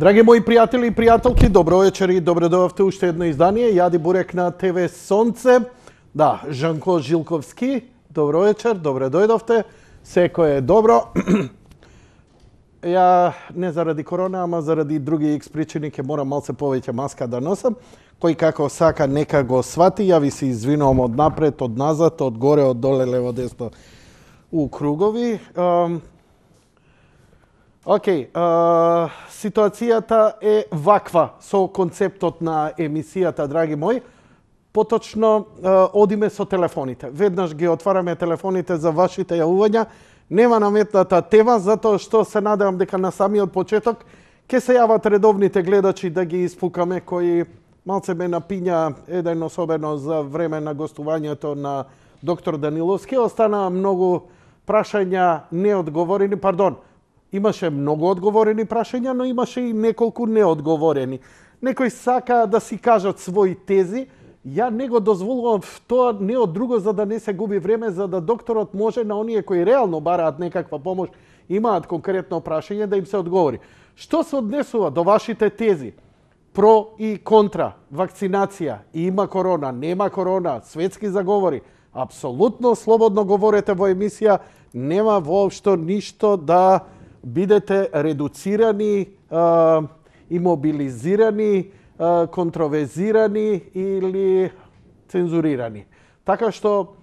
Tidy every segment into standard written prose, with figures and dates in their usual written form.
Драги мои пријатели и пријателки, добро вечер и добре дојдовте уште едно издание. Јади Бурек на ТВ Сонце. Да, Жанко Жилковски, добро вечер, добре дојдовте. Секој е добро. Ја не заради корона, ама заради други икс причини ќе морам малце повеќе маска да носам. Кој како сака нека го свати, ја ви се извинувам од напред, од назад, од горе, од доле, лево, десно у кругови. Ситуацијата е ваква со концептот на емисијата, драги мои. Поточно одиме со телефоните. Веднаш ги отвараме телефоните за вашите јавувања. Нема наметната тема, затоа што се надевам дека на самиот почеток ќе се јават редовните гледачи да ги испукаме, кои малце ме напиња еден особено за време на гостувањето на доктор Даниловски. Остана многу прашања неодговорени, имаше многу одговорени прашања, но имаше и неколку неодговорени. Некои сака да си кажат своји тези. Ја не го дозволувам тоа не од друго за да не се губи време, за да докторот може на оние кои реално бараат некаква помош, имаат конкретно прашање да им се одговори. Што се однесува до вашите тези? Про и контра, вакцинација, има корона, нема корона, светски заговори. Апсолутно слободно говорете во емисија, нема воопшто ништо да бидете редуцирани, имобилизирани, контроверзирани или цензурирани. Така што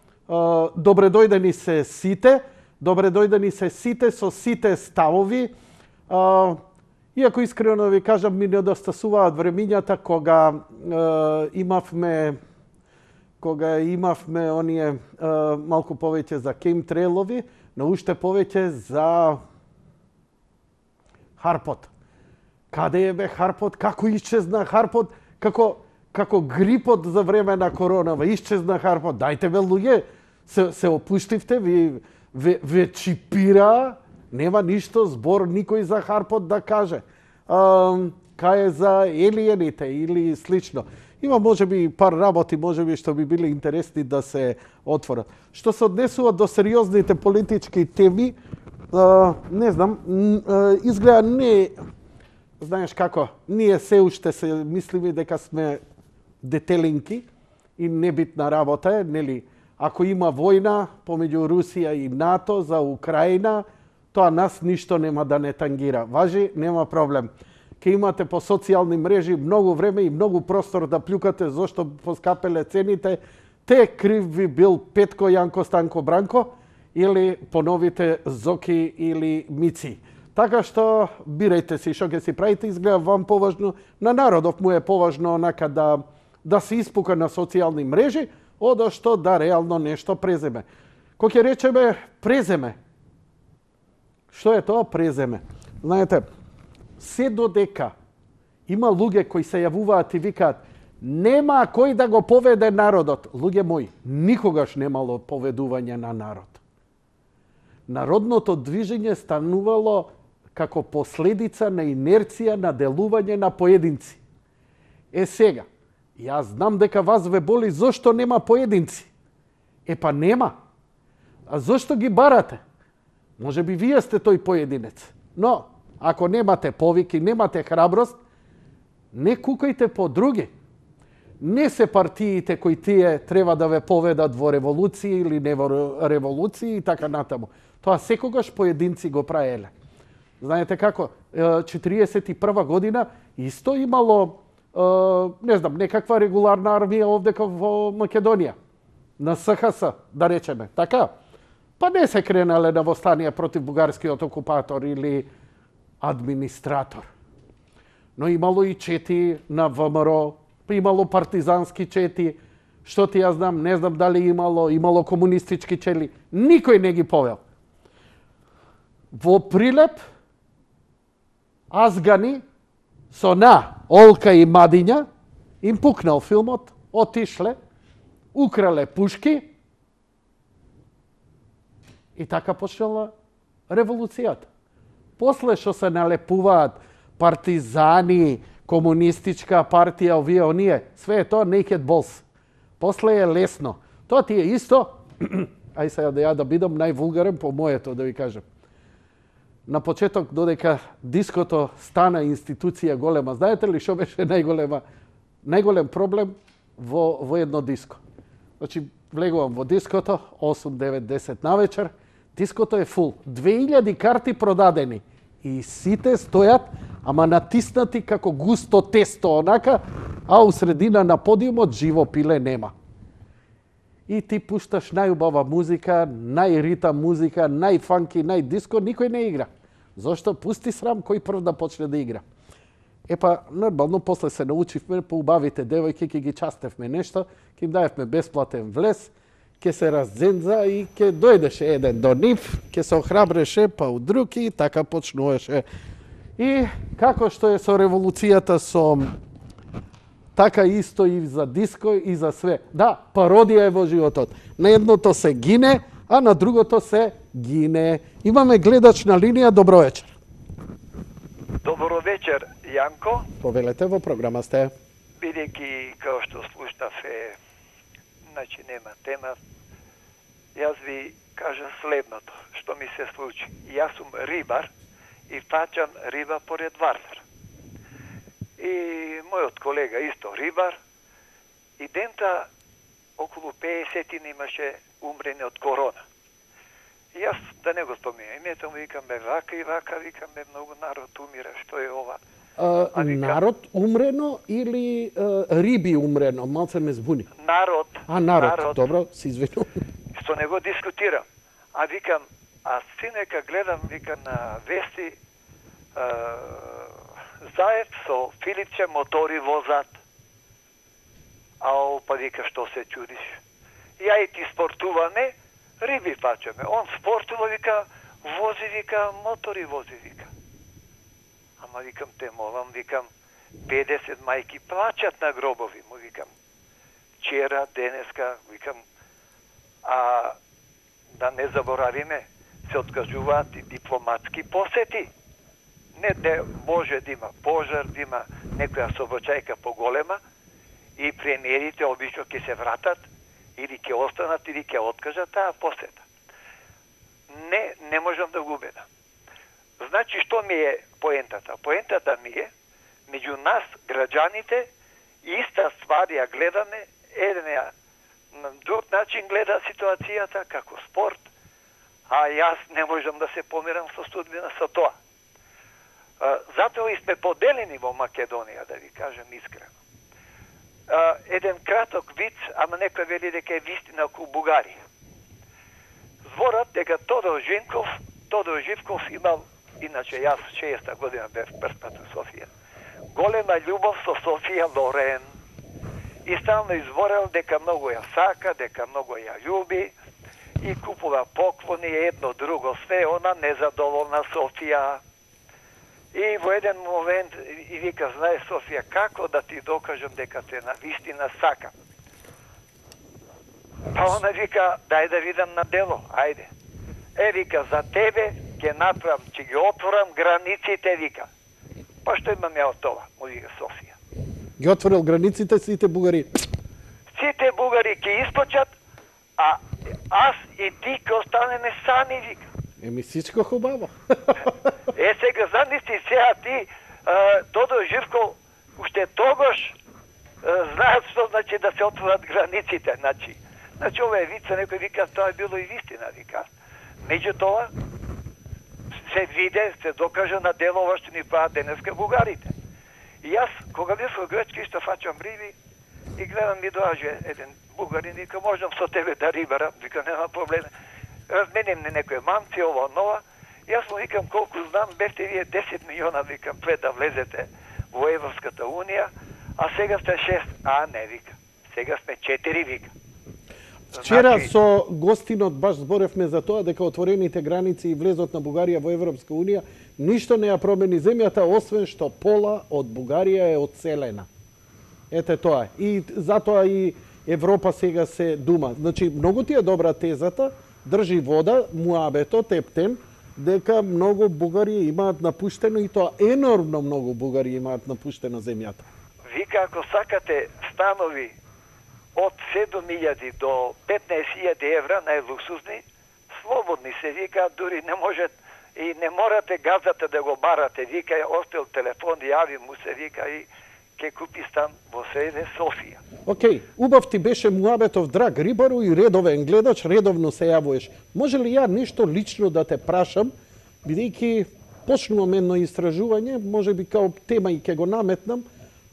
добре дојдени се сите, добре дојдени се сите со сите ставови. Иако искрено ви кажам, ми недостасуваат времињата кога имавме оние малку повеќе за кемтрейлови, но уште повеќе за Харпот. Каде е бе Харпот? Како исчезна Харпот? Како грипот за време на коронава исчезна Харпот. Дајте бе луѓе, се опуштивте, ве чипира, нема ништо збор никој за Харпот да каже. Кај е за елиените или слично. Има можеби пар работи, можеби што би били интересни да се отворат. Што се однесува до сериозните политички теми, не знам, изгледа не... Знаеш како, ние се уште се мислиме дека сме детелинки и небитна работа е, нели? Ако има војна помеѓу Русија и НАТО за Украина, тоа нас ништо нема да не тангира. Важи, нема проблем. Ке имате по социјални мрежи многу време и многу простор да плюкате зошто поскапеле цените, те крив ви бил Петко, Јанко, Станко, Бранко или поновите Зоки или Мици. Така што бирајте си што ќе си правите, изгледа вам поважно, на народов му е поважно онака да се испука на социјални мрежи, одо што да реално нешто преземе. Кој ќе речеме преземе? Што е тоа преземе? Знаете, се додека има луѓе кои се јавуваат и викаат нема кој да го поведе народот. Луѓе мои, никогаш немало поведување на народ. Народното движење станувало како последица на инерција на делување на поединци. Сега, јас знам дека вас ве боли зошто нема поединци. Па нема. А зошто ги барате? Може би вие сте тој поединец. Но, ако немате повики, немате храброст, не кукајте по други. Не се партиите кои тие треба да ве поведат во револуција или не во револуција и така натаму. Тоа секогаш поединци го праеле. Знаете како, 41 година исто имало, не знам, некаква регуларна армија овдека во Македонија. На СХС, да речеме. Така? Па не се кренале на востанија против бугарскиот окупатор или администратор. Но имало и чети на ВМРО, имало партизански чети, што ти ја знам, не знам дали имало комунистички чели. Никој не ги повел. Во Прилеп, Азгани со Олка и Мадиња им пукнал филмот, отишле, украле пушки и така почнала револуцијата. После што се налепуваат партизани, комунистичка партија, овие, оние, све е тоа naked balls. После е лесно. Тоа ти е исто, ај сега да бидам највулгарен по моето, да ви кажем. на почеток додека диското стана институција голема. Знаете ли што беше најголем проблем во едно диско? Значи, влегувам во диското, 8, 9, 10 навечер, диското е фул. 2000 карти продадени. И сите стојат, ама натиснати како густо тесто, онака, а у средина на подиумот живо пиле нема. И ти пушташ најубава музика, најритам музика, најфанки, најдиско, никој не игра. Зошто? Пусти срам кој прв да почне да игра. Епа, нормално, после се научивме, по убавите девојки, ќе ги частевме нешто, ќе им даевме бесплатен влез, ќе се раздзенза и ќе дојдеше еден до нив, ќе се охрабреше, па у други, и така почнуваше. И како што е со револуцијата така исто и за диско и за све. Да, пародија е во животот. На едното се гине, а на другото се гине. Имаме гледач на линија, добро вечер. Добро вечер, Јанко. Повелете, во програма сте. Бидејќи, као што слушнав значи нема тема, јас ви кажам следното, што ми се случи. Јас сум рибар и фаќам риба поред Вардар. И мојот колега исто рибар, и дента околу 50 имаше умрени од корона. И јас да не го споминам името, викаме вака и вака, викаме многу народ умира, што е ова? Народ умрено или риби умрено? Малце ме збуни. Народ. Народ. Добро, се извинувам. Што не го дискутирам. А викам, синека гледам, викам на вести, заед со Филипче мотори возат. Па вика, што се чудиш? Ја и ти спортуваме, риби фачаме. Он спортува, вика, вози, вика, мотори вози, вика. Ама викам, те молам, викам, 50 мајки плачат на гробови, му викам. Вчера, денеска, викам, да не заборавиме, се откажуваат и дипломатски посети. Не де може да има пожар, да има некоја собочајка поголема и премиерите обично ќе се вратат или ќе останат или ќе откажат таа посета. Не можам да го убедам. Значи, што ми е поентата? Поентата ми е, меѓу нас, граѓаните, иста ствар ја гледаме, еден на друг начин гледа ситуацијата, како спорт, а јас не можам да се помирам со судбина со тоа. Затоа и сме поделени во Македонија, да ви кажем искрено. Еден краток виц, ама некој вели дека е вистина околу Бугарија. Зборат дека Тодор Живков имал, иначе јас 60-та година бев првпат у Софија, голема љубов со Софија Лорен. И стално изборел дека многу ја сака, дека многу ја љуби и купува поклони едно друго, све она незадоволна Софија. И во еден момент и вика, знае Софија, како да ти докажам дека те на вистина сакам? Па она вика, дај да видам на дело, ајде. Вика, за тебе ќе направам, ќе ги отворам границите, вика. Па што имам ја од тоа, му вика Софија. Ги отворил границите сите бугари. Сите бугари ќе искочат, а аз и ти ќе останеме сами, вика. Еми сичко хубаво. Сега замисли сега ти, Тодор Живков, уште тогаш знаат што значи да се отворат границите, значи ова е вица, некој вика, тоа е било и вистина, вика. Меѓутоа, се виде, се докаже на дело ова што ни прават денеска бугарите. И јас, кога бев во Грчка, исто фачам риби и гледам ми доаѓа еден бугарин, вика, можам со тебе да рибарам, вика, нема проблем. Разменим не некој мамци, ова, нова. Јас му викам, колку знам, бевте вие 10 милиона, викам, пред да влезете во Европската унија, а сега сте 6. Не, вика. Сега сме 4, вика. Вчера со гостинот баш зборевме за тоа дека отворените граници и влезот на Бугарија во Европска унија ништо не ја промени земјата, освен што пола од Бугарија е одселена. Ете тоа е. И затоа и Европа сега се дума. Значи, многу ти е добра тезата, држи вода, муабето, тептен, дека многу бугари имаат напуштено и тоа енормно многу бугари имаат напуштено земјата. Вика, ако сакате станови од 7.000 до 15.000 евра, најлуксузни, слободни се вика, дури не може и не морате газата да го барате. Вика, остел телефон, јави му се, вика, и ке купи стан во СД Софија. Океј, убав ти беше муабетов, драг рибару и редовен гледач, редовно се јавуваш. Може ли ја нешто лично да те прашам, бидејќи почнувам едно истражување, може би као тема и ке го наметнам,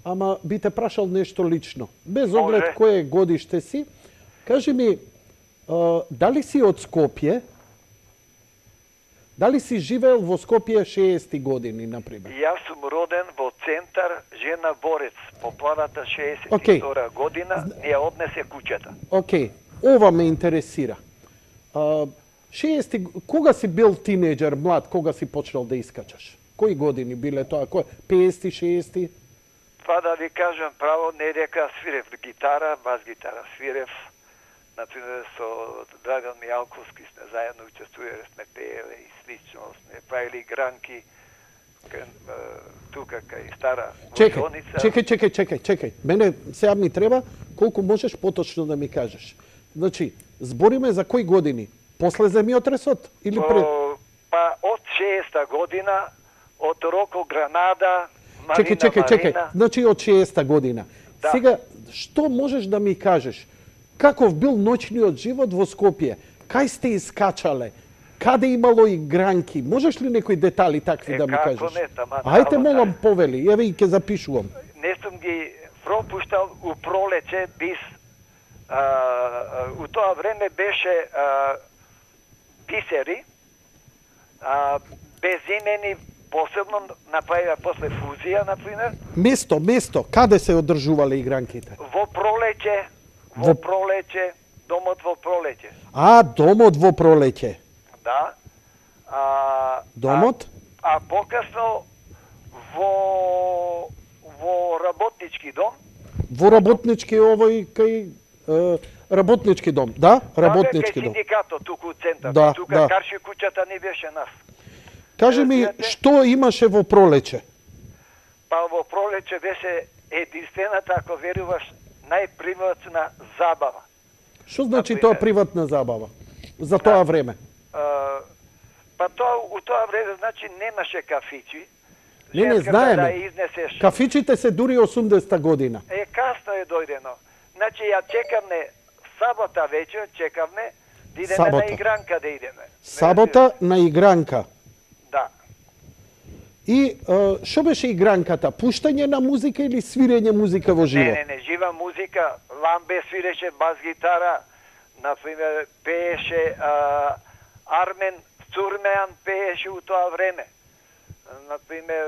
ама би те прашал нешто лично. Без оглед кое годиште си, кажи ми, дали си од Скопје? Дали си живеел во Скопје 60 години, например? Јас сум роден во центар Жена Борец. Поплавата 62 година не ја однесе куќата. Океј, ова ме интересира. 60, кога си бил тинеџер, млад, кога си почнал да искачаш? Кои години биле тоа? 50, 60? Па да ви кажам право, не дека свирев гитара, бас гитара свирев. Например, со Драган Мијалковски сме заедно учествувале, сме пееле и слично, сме правили гранки тука кај стара Војоница. Чекај. Мене сега ми треба колку можеш поточно да ми кажеш. Значи, збориме за кои години? После земјотресот или пред? Па од 60-та година, од Роко Гранада, Марина Чекај. Марина. Значи од 60-та година. Да. Сега, што можеш да ми кажеш? Каков бил ноќниот живот во Скопје? Кај сте искачале? Каде имало игранки? Можеш ли некои детали такви да ми кажеш? Како не, тама. Ајте, молам, повели, еве и ќе запишувам. Не сум ги пропуштал у пролече бис. У тоа време беше бисери, безимени, посебно направија после фузија, например. Место, каде се одржувале игранките? Во пролеќе, домот во пролеќе. Домот во пролеќе. Да. Домот? А покасно во работнички дом. Во работнички овој кај работнички дом, да? Работнички дом. Кај синдикатот туку у центар. Да, тука карши куќата не беше нас. Кажи ми, што имаше во пролеќе? Па во пролеќе беше единствената, ако веруваш, најприватна забава. Што значи тоа приватна забава? За тоа време? Па у тоа време, значи, немаше кафичи. Не знаеме. Да изнесеш. Кафичите се дури 80-та година. Касно е дојдено. Значи, ја чекавме сабота вечер, чекавме да идеме Сабота. на игранка да идеме. Сабота на игранка. Да. И што беше игранката? Пуштање на музика или свирење музика во живо? Не, жива музика. Ламбе свиреше бас гитара. Например, пееше Армен Цурмеан пееше у тоа време. Например,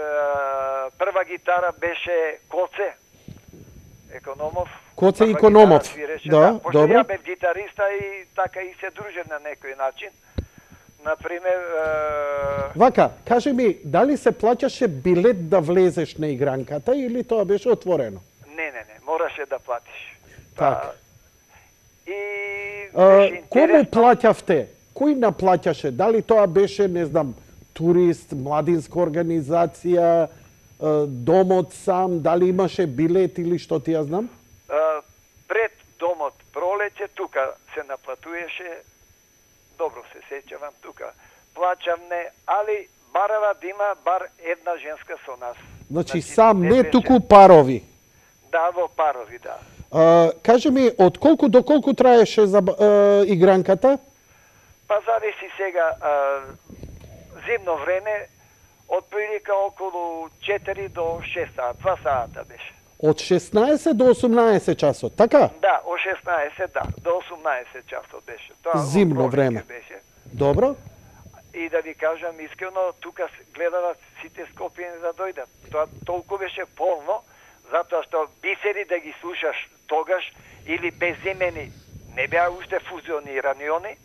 прва гитара беше Коце Економов. Коце Економов. Да, пошто добро. ја бев гитариста и така и се дружев на некој начин. Например... Вака, кажи ми, дали се плаќаше билет да влезеш на игранката или тоа беше отворено? Не, мораше да платиш. Така. И беше кому интересно. плаќавте? Кој наплаќаше? Дали тоа беше, не знам, турист, младинска организација, домот сам, дали имаше билет или што ти ја знам? Пред домот пролеќе, тука се наплатуваше, добро се сеќавам, тука плаќавме, али барава да има бар една женска со нас. Значи сам, не туку парови. Да, во парови, да. Кажи ми, од колку до колку траеше игранката? Па зависи сега, зимно време, од прилика околу 4 до 6 саат, 2 саата беше. Од 16 до 18 часот, така? Да, од 16, да, до 18 часот беше. Тоа зимно време. Беше. Добро. И да ви кажам искрено, тука гледават сите скопјани да дојдат. Тоа толку беше полно, затоа што бисери да ги слушаш тогаш или безимени не беа уште фузионирани они.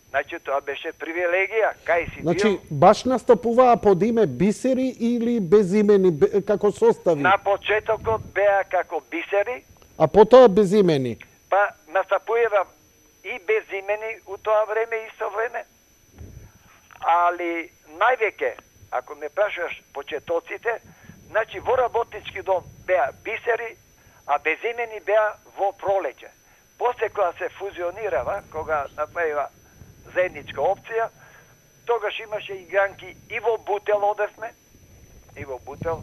Значи тоа беше привилегија, кај си Значи бил. баш настапуваа под име бисери или безимени како состави? На почетокот беа како бисери, А потоа безимени. па настапува и безимени у тоа време исто време. Али највеќе, ако ме прашаш почетоците, значи во работнички дом беа бисери, а безимени беа во пролеќе. После кога се фузионирава, кога направива заедничка опција, тогаш имаше игранки и во Бутел одевме. И во Бутел.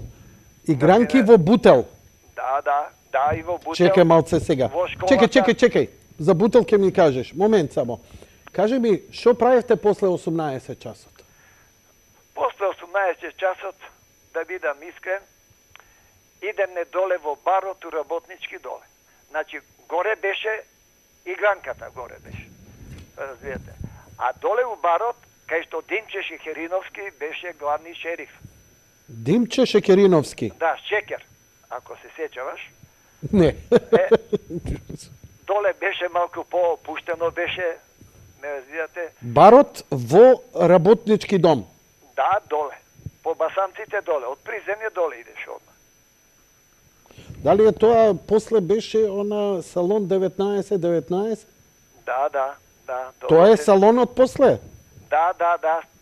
Игранки во Бутел. Да, и во Бутел. Чекај малце сега. Чекај. За Бутел ќе ми кажеш. Момент само. Кажи ми, што правевте после 18 часот? После 18 часот, да бидам искрен, идемне доле во барот у Работнички доле. Значи, горе беше игранката, горе беше. Разбирате. А доле у барот, кај што Димче Шекериновски беше главни шериф. Димче Шекериновски? Да, Шекер, ако се сеќаваш. Не. Доле беше малку по-опуштено, беше, ме разбирате. Барот во Работнички дом? Да, доле. По басанците доле, од приземје доле идеш одма. Дали е тоа после беше она салон 19? Да. Тоа е салонот после? Да,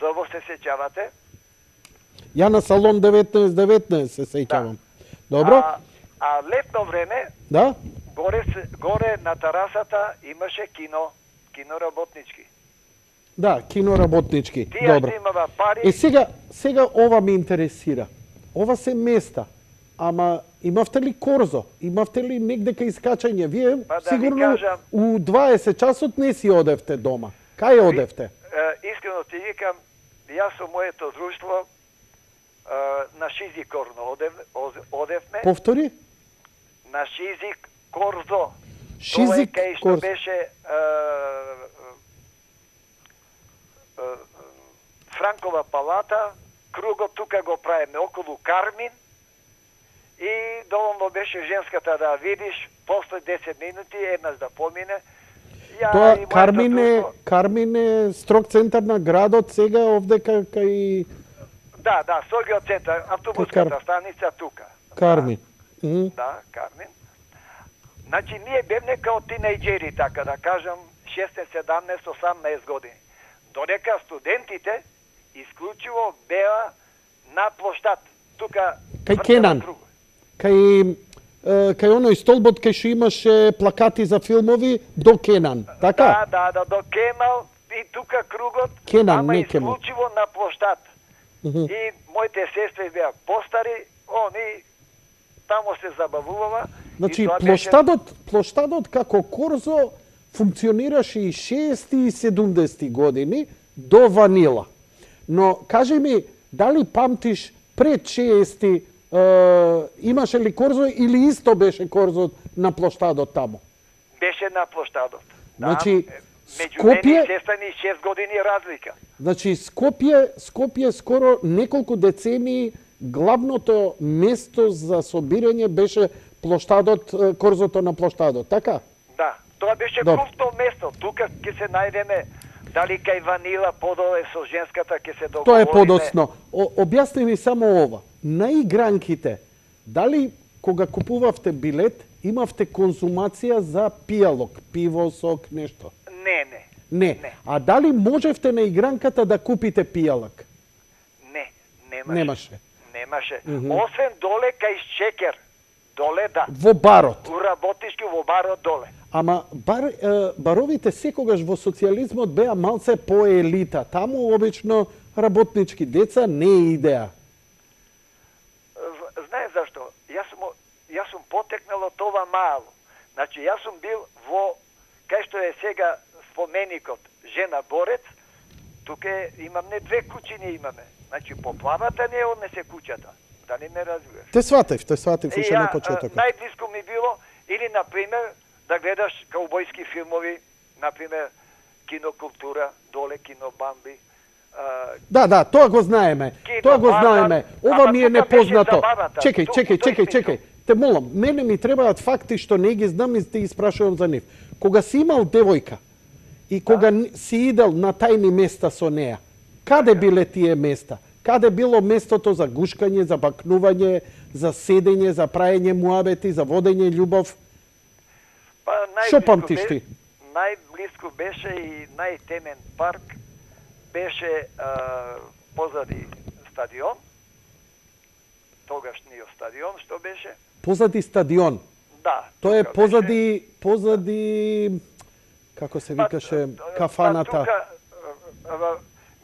добро се сеќавате. Ја на салон 19 се сеќавам. Добро? А летно време, да? Горе на терасата имаше кино Работнички. Да, кино Работнички. Тие имава пари. И сега ова ме интересира. Ова се места. Ама имавте ли корзо? Имавте ли негде кај искачање? Вие сигурно у 20 часот не си одевте дома. Кај одевте? Искрено ти викам, јас со моето друштво на Шизи Корно одевме. Повтори? На Шизи Корзо. Шизи Кај што беше Франкова палата, кругот тука го правиме околу Кармин и доволно беше женската да видиш, после 10 минути еднаш да помине. Тоа Кармин е строг центар на градот сега овде кај... Да, строгиот центар, автобуската станица тука. Кармин. Да, Кармин. Значи, ние бевне као тинејџери, така да кажам, 16, 17, 18 години. Додека студентите исклучиво беа на плоштад. Тука... Кај Кенан. Кај оној столбот кај што имаше плакати за филмови до Кенан, така? Да, до Кемал и тука кругот, Кенан, ама не Кемал. исклучиво на плоштад. И моите сестри беа постари, они тамо се забавувава. Значи, плоштадот како корзо функционираше и 60 и 70 години до Ванила. Но кажи ми, дали памтиш пред 60 имаше ли корзо или исто беше корзо на плоштадот тамо? Беше на плоштадот. Значи, меѓу мене и сестра ни 6 години разлика. Значи, Скопје скоро неколку децении главното место за собирање беше плоштадот, корзото на плоштадот, така? Да, тоа беше крупно место. Тука ќе се најдеме, дали кај Ванила подоле со женската ќе се договориме. Тоа е подоцно. Објасни ми само ова. На игранките, дали кога купувавте билет, имавте консумација за пијалок, пиво, сок, нешто? Не. А дали можевте на игранката да купите пијалок? Немаше. Освен доле кај Шекер. Доле, да. Во барот. У Работнички, во барот доле. Ама баровите секогаш во социјализмот беа малце по елита. Таму обично работнички деца не идеа. Знаеш зашто? Јас сум потекнал од ова мало. Значи, јас сум бил во, кај што е сега споменикот Жена Борец, тука имаме 2 куќини имаме. Значи, поплавата не однесе куќата. Дали ме разбираш? Те сватив уште на почетокот. Најблиско ми било, или, например, да гледаш каубојски филмови, например, Кинокултура, доле Кино Бамби. Да, тоа го знаеме. Ова ми е непознато. Чекај. Те молам, мене ми требаат факти што не ги знам и те испрашувам за нив. Кога си имал девојка и кога си идел на тајни места со неа, каде биле тие места? Каде било местото за гушкање, за бакнување, за седење, за праење муабети, за водење љубов? Што памтиш ти? Најблиско беше и најтемен парк беше позади стадион. Тогашниот стадион што беше? Позади стадион? Да. Тоа е позади како се викаше кафаната?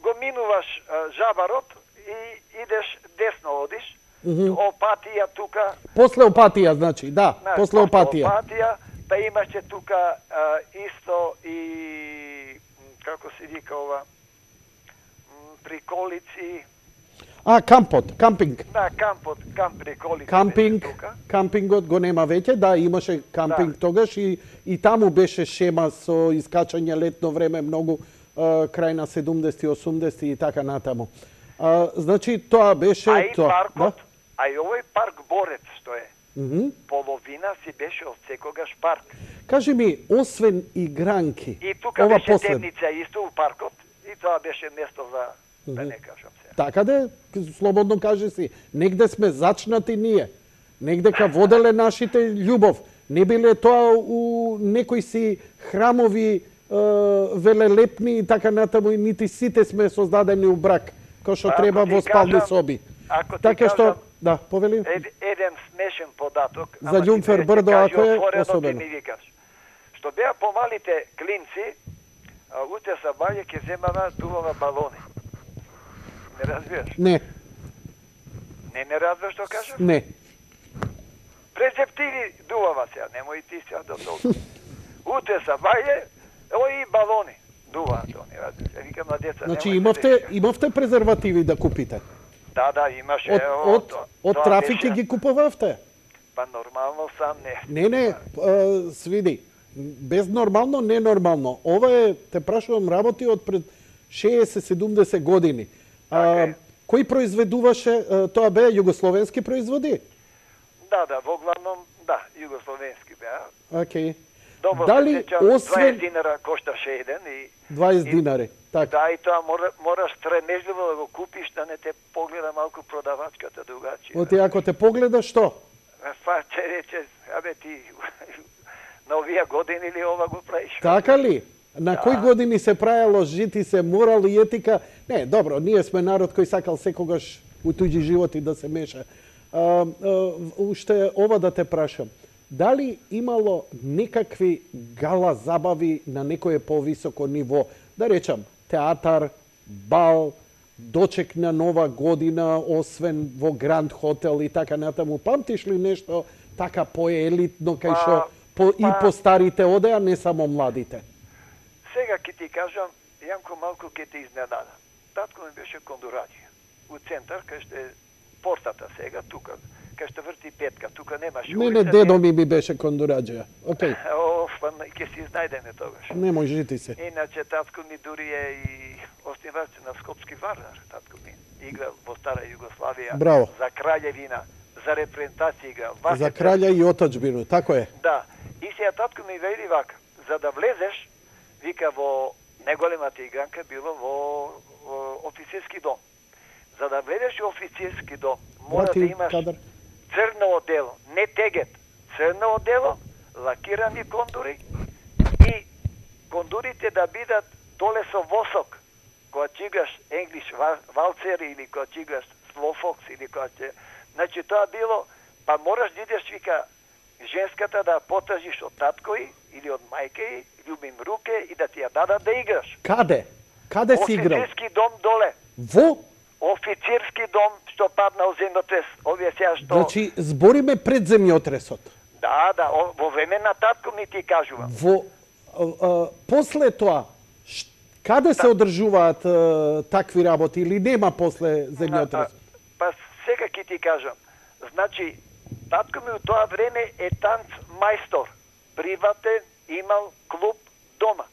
го минуваш Жабарот и идеш десно одиш, Опатија тука. После Опатија, значи, да, после Опатија. Опатија, па имаше тука исто и, како се вика ова, Приколици. Кампинг. Да, камп Приколици. Кампингот го нема веќе, да, имаше кампинг тогаш и таму беше шема со искачање летно време многу крај на 70-ти, 80-ти и така натаму. Значи, тоа беше... А и паркот, а и овој парк Борец, што е, половина си беше од секогаш парк. Кажи ми, освен игранки... И тука беше темница исто у паркот, и тоа беше место за, да не кажам се. Така де, слободно кажи си, негде сме зачнати ние, негде ка воделе нашите љубов. Не биле тоа у некои си храмови велелепни и така натаму, и нити сите сме создадени у брак, кој што треба во спални соби. Така што, да, повели. Еден смешен податок. За Љумфер Брдо, ако е особено. Што беа помалите клинци, уте са баје ке земава дувава балони. Не разбираш? Не. Не разбираш што кажам? Не. Презептиви дувава сега, немој ти сега до толку. Уте са баје, и балони дуваа тоа, не разбираш. Викам на деца, значи имавте презервативи да купите? Да, имаше. Од трафики ги купувавте? Па нормално сам не. Не, свиди. Без нормално, ненормално. Ова е, те прашувам, работи од пред 60-70 години. Кој произведуваше, тоа беа југословенски производи? Да, во главном, да, југословенски беа. Окей. Добро, дали освен 20 динара кошташе еден и 20 динари, така. Да, и тоа мораш стремежливо да го купиш, да не те погледа малку продавачката другачија. Оти ако те погледа што? Па че рече, абе ти на овие години ли ова го правиш? Така ли? На кои години се правело жити се морал и етика? Не, добро, ние сме народ кој сакал секогаш у туѓи животи да се меша. Уште ова да те прашам. Дали имало некакви гала забави на некое повисоко ниво? Да речам, театар, бал, дочек на Нова година, освен во Гранд Хотел и така натаму. Памтиш ли нешто така поелитно кај што и по старите одеа, не само младите? Сега ќе ти кажам, Јанко, малку ќе те изненада. Татко ми беше кондураđија. У центар, кај што е портата сега, тука, кај што врти петка, тука немаше улица. Не, дедо ми беше кондураđија. Окей. Па ќе си знајдеме тогаш. Немој, жити се. Иначе татко ми дури е и оснивач на Скопски Вардар. Татко ми игра во стара Југославија. Браво. За краљевина, за репрезентација игра. За краља и отачбину, тако е. Да. И сега татко ми вели вака, за да влезеш, вика, во неголемата игранка било во офицерски дом. За да влезеш во офицерски дом, мора да имаш црно одело, не тегет, црно одело, лакирани кондури и кондурите да бидат доле со восок. Кога чигаш English валцер или кога чигаш slow fox или кога че... Значи тоа било, па мораш да идеш, вика, женската да потажиш од таткои или од мајке, љубим руке и да ти ја дадат да играш. Каде? Каде си играл? Офицерски дом доле. Во? Офицерски дом што паднал земјотрес. Овие сега што... Значи, збориме пред земјотресот. Да, во време на татко ми ти кажувам. После тоа, каде се одржуваат такви работи или нема после земјотресот? Па сега ќе ти кажам. Значи, татко ми у тоа време е танц мајстор. Приватен, имал клуб дома.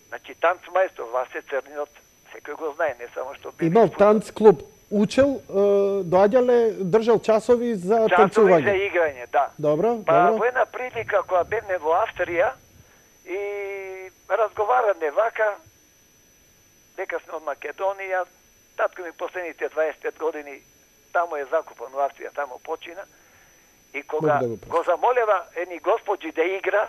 Значи, танц мајстор, Васе Црнинот, секој го знае, не само што бил. Имал танц клуб. Учел, доаѓале, држал часови за танцување. Часови за играње, да. Добро, Па во една прилика која бевме во Австрија и разговараме вака, дека сме од Македонија, татко ми последните 25 години таму е закупан во Австрија, таму почина. И кога го замолева едни господи да игра,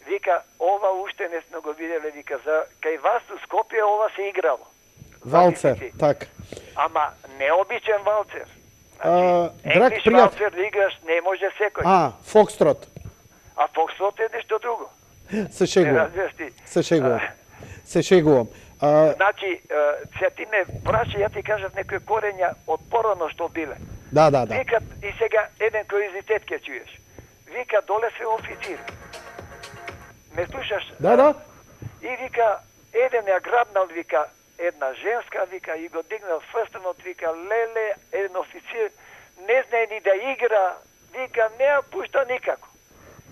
вика, ова уште не сме го виделе, вика, за кај вас у Скопје ова се играло. Валцер, така. Ама необичен валцер. Драг пријател. Валцер да играш не може секој. Фокстрот. А фокстрот е нешто друго. Се шегувам. Се шегувам. Значи, се ти ме праши, ја ти кажат некои корења од порано што биле. Да. Викат, и сега еден куриозитет ќе чуеш. Вика, доле се официр. Ме слушаш? Да. И вика, еден ја грабнал, вика, една женска, вика, и го дигнал с прстенот, вика, леле, еден официр, не знае ни да игра, вика, не ја пушта никако.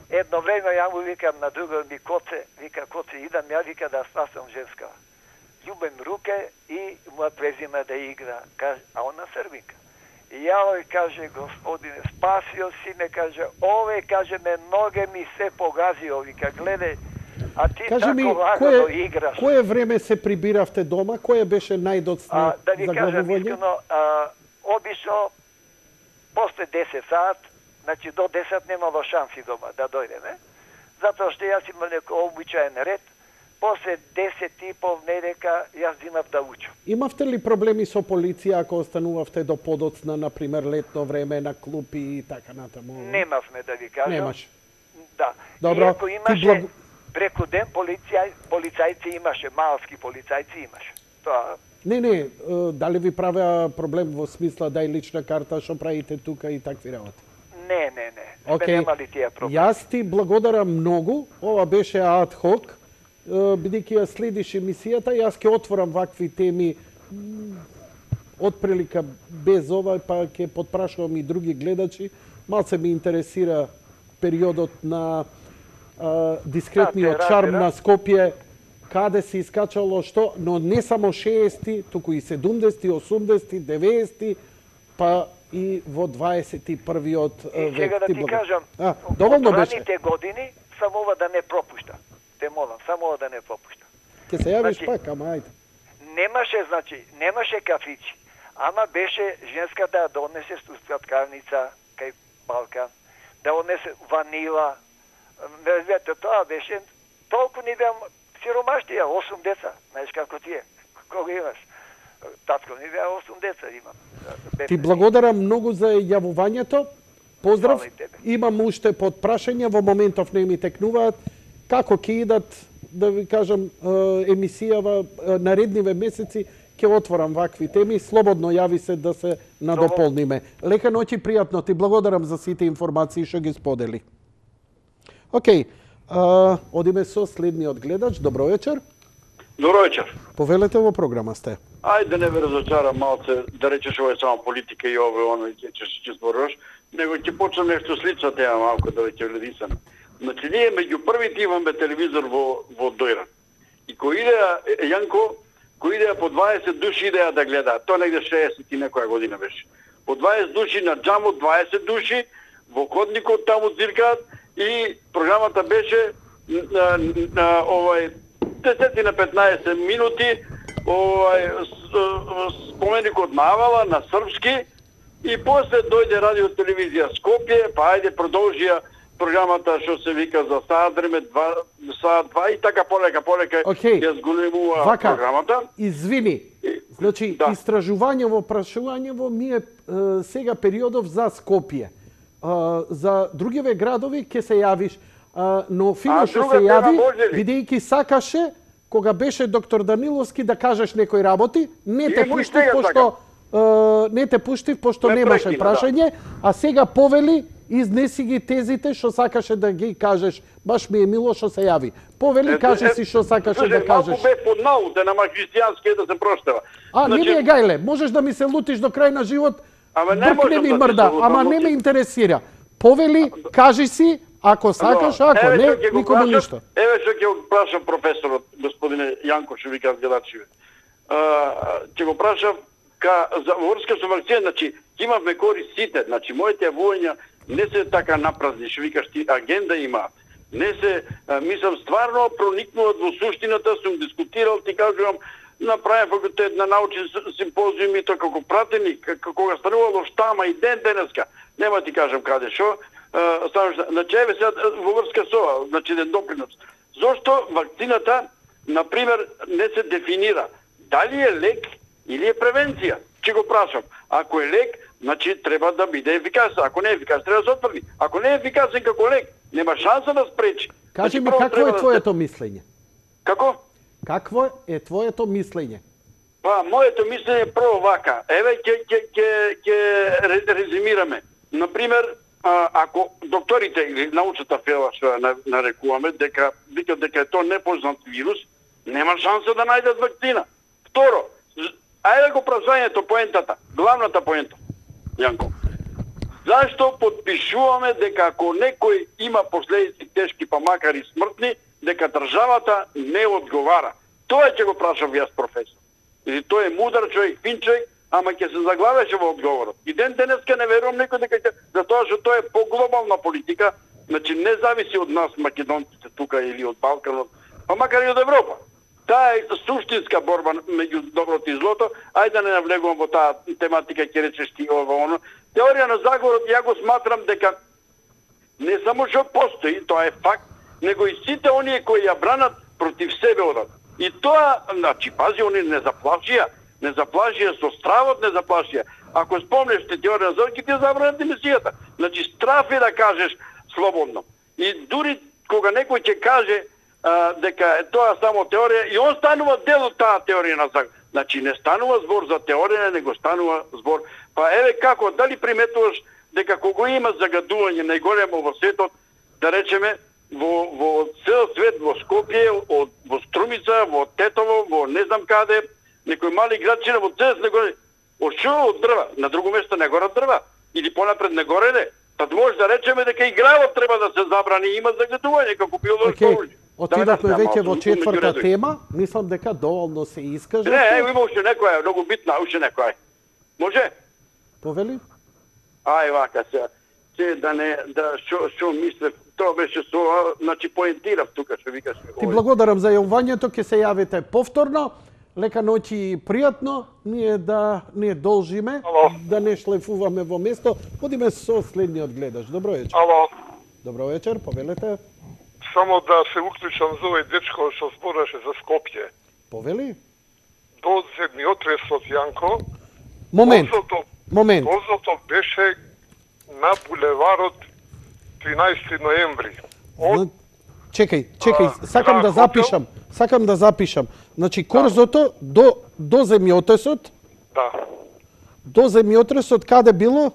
Едно време ја му викам на друго ми коце, вика, коце, идам ја, вика, да спасам женска. Љубим руке и му ја презима да игра, а она србинка. И ја каже, господине, спасио си ме, каже, ове, каже, ме ноге ми се погазио, вика, гледај, а ти кажи ми, тако лагано играш. Кое време се прибиравте дома? Кое беше најдоцна да ви кажам заглавување? искрено, обично после 10 сат, значи до 10 немало шанси дома да дојдеме, затоа што јас имам некој обичаен ред, после 10 и пол недека јас зимав да учам. Имавте ли проблеми со полиција ако останувавте до подоцна, например летно време на клупи и така натаму? Немавме, да ви кажам. Немаш. Да. Добро. Иако имаше преку ден полицајци имаше, малски полицајци имаше. Тоа Не, дали ви правеа проблем во смисла дај лична карта, што правите тука и такви работи? Не. Океј. Немали тие проблеми. Јас ти благодарам многу. Ова беше ад хок. Бидејќи ја следиш емисијата, јас ќе отворам вакви теми отприлика без ова, па ќе потпрашувам и други гледачи. Малце ми интересира периодот на дискретниот шарм на Скопје, каде се искачало што, но не само 60-ти, туку и 70-ти, 80-ти, 90-ти, па и во 21-виот век. Сега да ти кажам, доволно беше. раните години само ова да не пропушта. Те молам, само ова да не пропушта. Ке се јавиш пак, ама ајде. Немаше кафици, ама беше женската да однесе сладкарница кај Балкан, да однесе ванила. Вете, тоа беше толку ни беа сиромаштија, 8 деца, знаеш како ти е, кога имаш. Татко ми беа 8 деца имам. Ти благодарам многу за јавувањето. Поздрав. Имам уште подпрашања, во моментов не ми текнуваат. Како ќе идат, да ви кажам, емисијава наредниве месеци, ќе отворам вакви теми. Слободно јави се да се надополниме. Лека ноќ и пријатно. Ти благодарам за сите информации што ги сподели. Океј, одиме со следниот гледач. Добро вечер. Добро вечер. Повелете, во програма сте. Ајде не ве разочарам малце, да речеш ова е само политика и ова оно ќе зборуваш, него ќе почнам нешто слично тема малку да ќе вледисам. Значи ние меѓу првите имаме телевизор во Дојран. И кој иде Јанко, кој иде по 20 души идеа да гледа, тоа негде 60 и некоја година беше. По 20 души на џамот, 20 души во ходникот таму циркаат и програмата беше овај 10 на 15 минути споменикот на Авала на српски и после дојде радио телевизија Скопје, па ајде продолжија програмата што се вика за саат време, саат 2 и така полека ја зголемува програмата. Извини, значи истражувањево, прашувањево ми е сега периодов за Скопје. За другиве градови ќе се јавиш, но фино што се јави, бидејќи сакаше кога беше доктор Даниловски да кажеш некои работи, не те пуштив пошто немаше прашање, а сега повели изнеси ги тезите што сакаше да ги кажеш. Баш ми е мило што се јави. Повели, кажи си што сакаше да кажеш. Малку бе под науте, нама христијански да се проштава. Не ми е гајле, можеш да ми се лутиш до крај на живот, брк ми мрда, ама не ме интересира. Повели, кажи си, ако сакаш, ако не, никому ништо. Еве што ќе го прашам професорот, господине Јанко, што вика гледачи. Ќе го прашам за врска со вакцина, значи имавме корист сите, значи моите јавувања не се така напразни, што викаш ти, агенда има. Не се, мислам, стварно проникнуваат во суштината, сум дискутирал, ти кажувам, направен факултет на научен симпозиум и тоа како пратеник, кога станувало штама и денеска, нема ти кажам каде шо, значи еве сега во врска со ова, значи еден допринос. Зошто вакцината, например, не се дефинира дали е лек или е превенција? Ќе го прашам. Ако е лек, значи треба да биде ефикасен. Ако не е ефикасен, треба да се отврди. Ако не е ефикасен како лек, нема шанса да спречи. Кажи ми, какво е твоето мислење? Како? Какво е твоето мислење? Па, моето мислење е прво вака. Еве, ќе резимираме. Например, ако докторите или научната фела што нарекуваме, дека е тоа непознат вирус, нема шанса да најдат вакцина. Второ, ајде го празвањето поентата, главната поента, Јанко. Зашто подпишуваме дека ако некој има последици тешки, па макар и смртни, дека државата не одговара? Тоа ќе го прашав јас, професор. Или тој е мудар човек, фин човек, ама ќе се заглавеше во одговорот. И денеска не верувам некој дека ќе, затоа што тоа е поглобална политика, значи не зависи од нас македонците тука или од Балканот, па макар и од Европа. Таа е суштинска борба меѓу доброто и злото. Ајде да не навлегувам во таа тематика, ќе речеш ти ова оно. Теорија на заговорот ја го сматрам дека не само што постои, тоа е факт, него и сите оние кои ја бранат против себе одат. И тоа, значи, пази, они не заплашија со стравот, не заплашија. Ако спомнеш теорија на заговорот, ќе ти забранат емисијата. Значи, страф е да кажеш слободно. И дури кога некој ќе каже дека е тоа само теорија, и он станува дел од таа теорија на заговор. Значи, не станува збор за теорија, него станува збор. Па еве како, дали приметуваш дека кога има загадување најголемо во светот, да речеме, во цел свет, во Скопје, во Струмица, во Тетово, во не знам каде, некои мали градчина во цел свет, од што од дрва, на друго место не горат дрва, или понапред не гореде. Tad може да речеме дека и гравот треба да се забрани, има загадување како биолошко оружје. Отидовме веќе во четврта тема, мислам дека доволно се искажа. Не, има уште некоја, многу битна, уште некоја. Може? Повели? Ај вака се да не што мислев, тоа беше со, значи поентирав тука што викаш. Ти благодарам за јавувањето, ќе се јавите повторно. Лека ноќ и пријатно, ние да не должиме, да не шлефуваме во место. Одиме со следниот гледаш. Добро вечер. Ало. Добро вечер, повелете. Само да се уклучам за овој дечко што збораше за Скопје. Повели? До земјотресот, Јанко. Момент. Возото беше на булеварот 13 ноември. Чекај, сакам да запишам. Значи корзото до земјотресот? Да. До земјотресот каде било?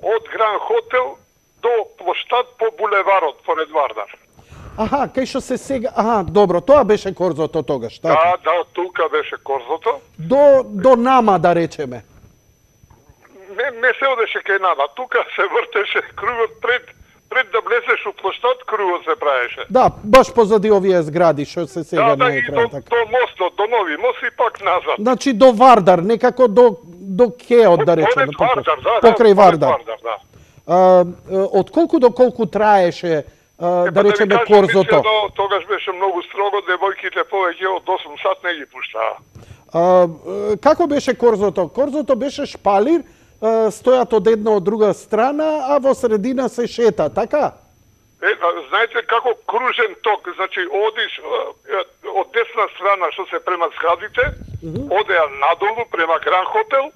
Од Гран Хотел до плоштад по булеварот поред Вардар. Аха, кај што се сега... Аха, добро, тоа беше корзото тогаш, така? Да, тука беше корзото. До нама, да речеме. Не се одеше кај нама, тука се вртеше кругот пред да влезеш у плоштад, кругот се правеше. Да, баш позади овие згради што се сега на екран. Да, и до мостот, до нови мост и пак назад. Значи до Вардар, некако до Кеот, да речеме. Покрај Вардар. Од колку до колку траеше, да речеме, корзото? Тогаш беше многу строго, девојките повеќе од 8 сат не ги пуштаа. Како беше корзото? Корзото беше шпалир, стојат од една од друга страна, а во средина се шета, така? Знаете како кружен ток, значи одиш од десна страна што се према зградите, одеа надолу према Гран Хотел,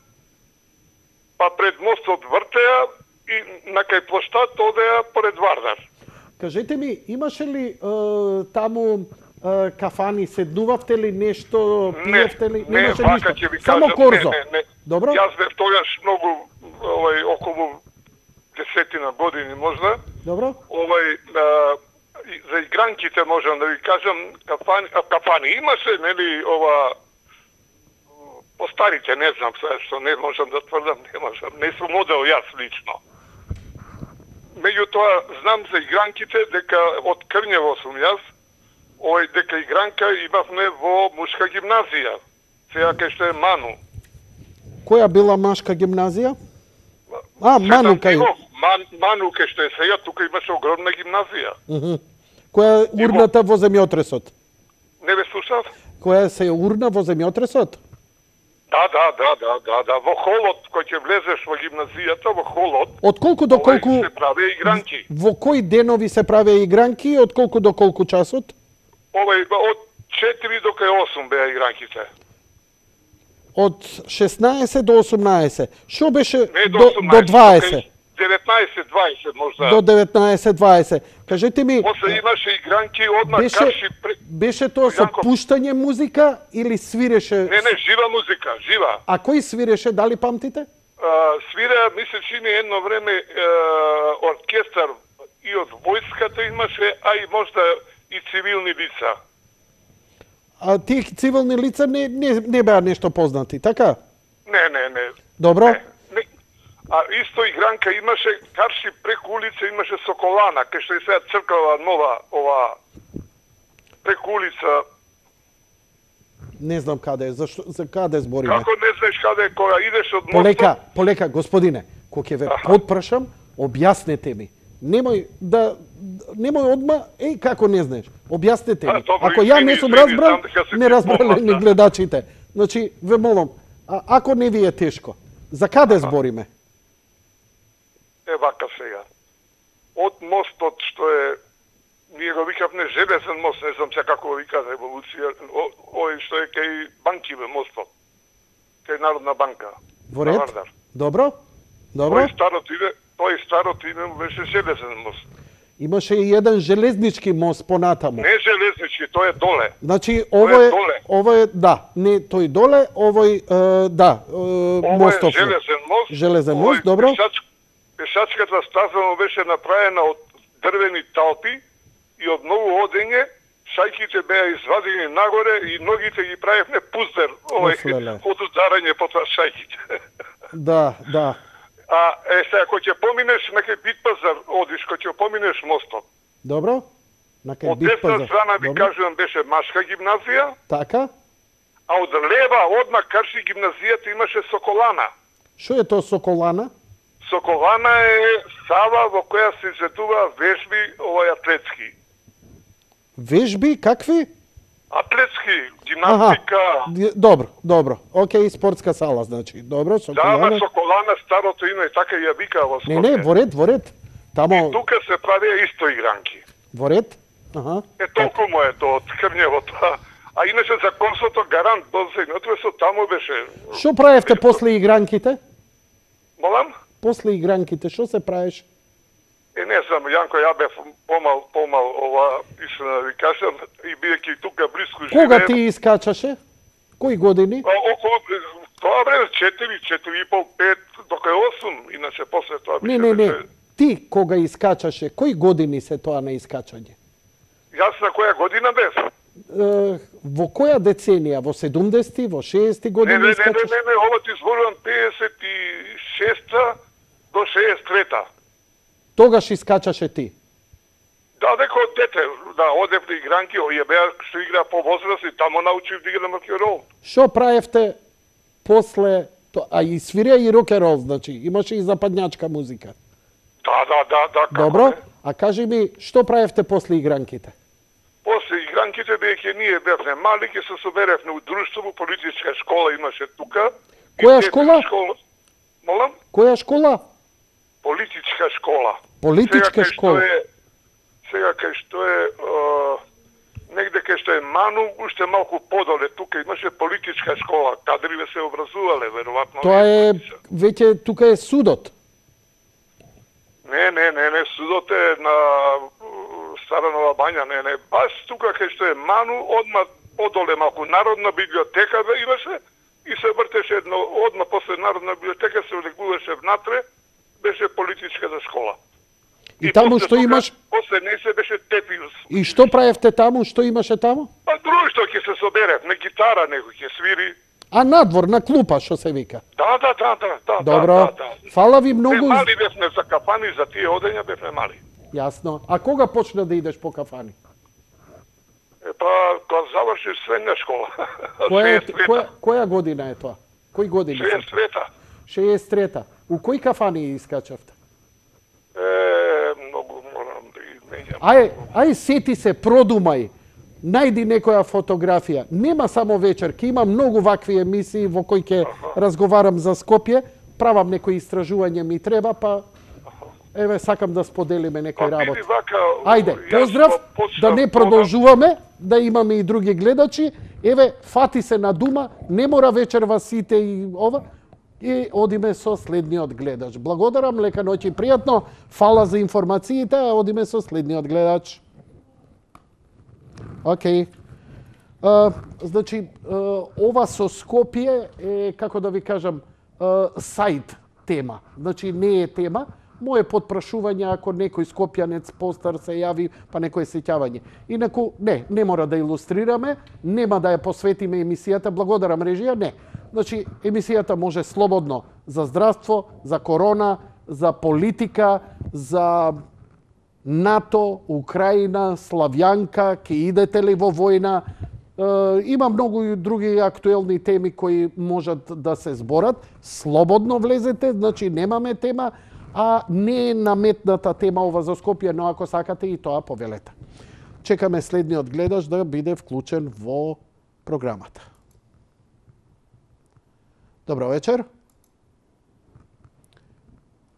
па пред мостот вртеа и на кај плоштад одеа поред Вардар. Кажете ми, имаше ли таму кафани, седнувавте ли нешто, пиевте ли? Не, вака ќе ви кажам. Само корзо? Не. Добро? Јас бев тогаш многу, околу 10 години можда. Добро. За игранките можам да ви кажам, кафани имаше, нели, по старите, не знам, што не можам да тврдам, не сум модел јас лично. Меѓутоа, знам за игранките, дека од Крњево сум јас, дека игранка имавме во мушка гимназија, сега кај што е Ману. Која била машка гимназија? Ману кај... Ману кај што е сега, тука имаше огромна гимназија. Која е урната во земјотресот? Не ве слушав? Која се урна во земјотресот? Да, во холот, кој ќе влезеш во гимназијата, во холот. Од колку до колку се правеа игранки? Во кои денови се правеа игранки, од колку до колку часот? Од 4 до кај 8 беа игранките. Од 16 до 18. Што беше Не, до 20? 19-20 можда. До 19-20. Кажете ми, После имаше игранки одма карши. беше тоа со пуштање музика или свиреше? Не, жива музика, жива. А кој свиреше, дали памтите? Свира, ми се чини едно време оркестар и од војската имаше, а и можда и цивилни лица. А тие цивилни лица не беа нешто познати, така? Не. Добро. Не. А исто игранка имаше, карши преку улица имаше Соколана, кај што е сега црква нова, ова, преку улица. Не знам каде е, за каде збориме? Како не знаеш каде, кога идеш од мостот? Полека, господине, кога ќе ве потпрашам, објаснете ми. Немој одма, како не знаеш. Објаснете ми. Ако ја не сум разбрал, не разбрале ни гледачите. Значи, ве молам, ако не ви е тешко, за каде збориме? Вака сега. Од мостот што е, ние го викавме железен мост, не знам сега како го вика револуција, ој што е кај банкиве мостот, кај Народна банка. Во ред? Добро. Тој старото име му беше железен мост. Имаше и еден железнички мост понатаму. Не железнички, тој е доле. Значи, ово е, да, не тој доле, овој, да, мостов. Ово е железен мост. Железен мост, добро. Пешачката стаза му беше направена од дрвени талпи и од многу одење, шајките беа извадени нагоре и ногите ги правевме пуздер, од ударање по тоа шајките. Да. А сега кога ќе поминеш на кај Битпазар, одиш кога ќе поминеш мостот. Добро. На кај Битпазар. Од десна страна ви кажувам беше машка гимназија. Така. А од лева одма карши гимназијата имаше Соколана. Што е тоа Соколана? Соколана е сала во која се изvedува вежби атлетски. Вежби какви? Атлетски, гимнастика. Добро. Океј, спортска сала, значи. Добро, Соколана. Да, Соколана старото име, така ја вика во Скопје. Не, во ред. Тамо... И тука се правија исто игранки. Во ред? Толку му е тоа од Крњевото. А иначе за Косото гарант дозајнотве со таму беше. Што правевте после игранките? Молам? После игранките, што се правиш? Не знам, Јанко, ја бев помал ова, истина да ви кажам, и бидејќи тука близко живеем. Кога ти искачаше? Кои години? Околу тоа време 4,5, 5, дока е 8, иначе после тоа Не. Ти кога искачаше, кои години се тоа на искачање? Јас на која година бев? Во која деценија? Во 70-ти, во 60-ти години искачаш? Не, ова ти зборувам 56-та до 63-та. Тогаш искачаше ти? Да, дека од дете, одев на игранки, ја беа што игра по возраст и тамо научив да играм рок-н-рол. Што правевте после, а и свирија и рок-н-рол, значи, имаше и западњачка музика? Да. Добро, а кажи ми, што правевте после игранките? После игранките, бидејќи ние бевме мали, ќе се соберевме у друштво, политичка школа имаше тука. Која школа? Молам? Која школа? Политичка школа. Политичка школа. Сега кај што е негде кај што е Ману, уште малку подоле, тука имаше политичка школа, кадриве се образувале, веројатно. Тоа е веќе тука е судот. Не, судот е на Стара Нова Бања, не, баш тука кај што е Ману, одма подоле малку Народна библиотека имаше и се вртеше одма после Народна библиотека се влегуваше внатре, беше политичката школа. И таму што имаш? После не се беше Тепиус. И што правевте таму? Што имаше таму? Па друштво ќе се соберев, на гитара некој ќе свири. А надвор, на клупа, што се вика? Да. Добро. Фала ви многу. Мали бевме за кафани, за тие одења бевме мали. Јасно. А кога почна да идеш по кафани? Па, кога завршиш средна школа. Која година е тоа? Кои години? 63-та. 63-та. У кои кафани искачавте? Многу морам да изменјам. Ај, сети се, продумај. Најди некоја фотографија. Нема само вечер, ке има многу вакви емисии во кои ќе разговарам за Скопје, правам некои истражување ми треба, па еве сакам да споделиме некој работ. Ајде, поздрав, да не продолжуваме, да имаме и други гледачи. Еве, фати се на дума, не мора вечерва сите и ова. и одиме со следниот гледач. Благодарам, лека ноќ и пријатно. Фала за информациите, а одиме со следниот гледач. Океј. Значи, ова со Скопје е, како да ви кажам, сајд тема. Значи, не е тема. Моje подпрашување, ако некој скопјанец постар се јави, па некој сеќавање. Инаку, не мора да илустрираме, нема да ја посветиме емисијата, благодарам режија, не. Значи, емисијата може слободно за здравство, за корона, за политика, за НАТО, Украина, Славјанка, ке идете ли во војна. Има многу и други актуелни теми кои можат да се зборат. Слободно влезете, значи немаме тема, а не е наметната тема ова за Скопје, но ако сакате и тоа повелете. Чекаме следниот гледач да биде вклучен во програмата. Добро вечер.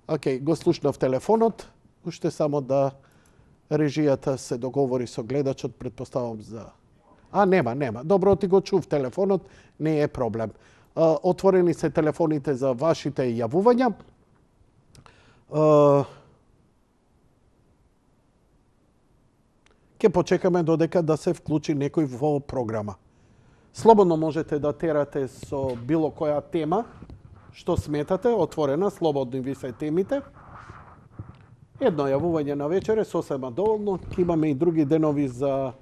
Океј, го слушнав телефонот. Уште само да режијата се договори со гледачот, предпоставам за... нема. Добро, ти го чув телефонот, не е проблем. Отворени се телефоните за вашите јавувања. Ке почекаме додека да се вклучи некој во програма. Слободно можете да терате со било која тема, што сметате, отворена, слободни ви се темите. Едно јавување на вечер е сосема доволно, ке имаме и други денови за,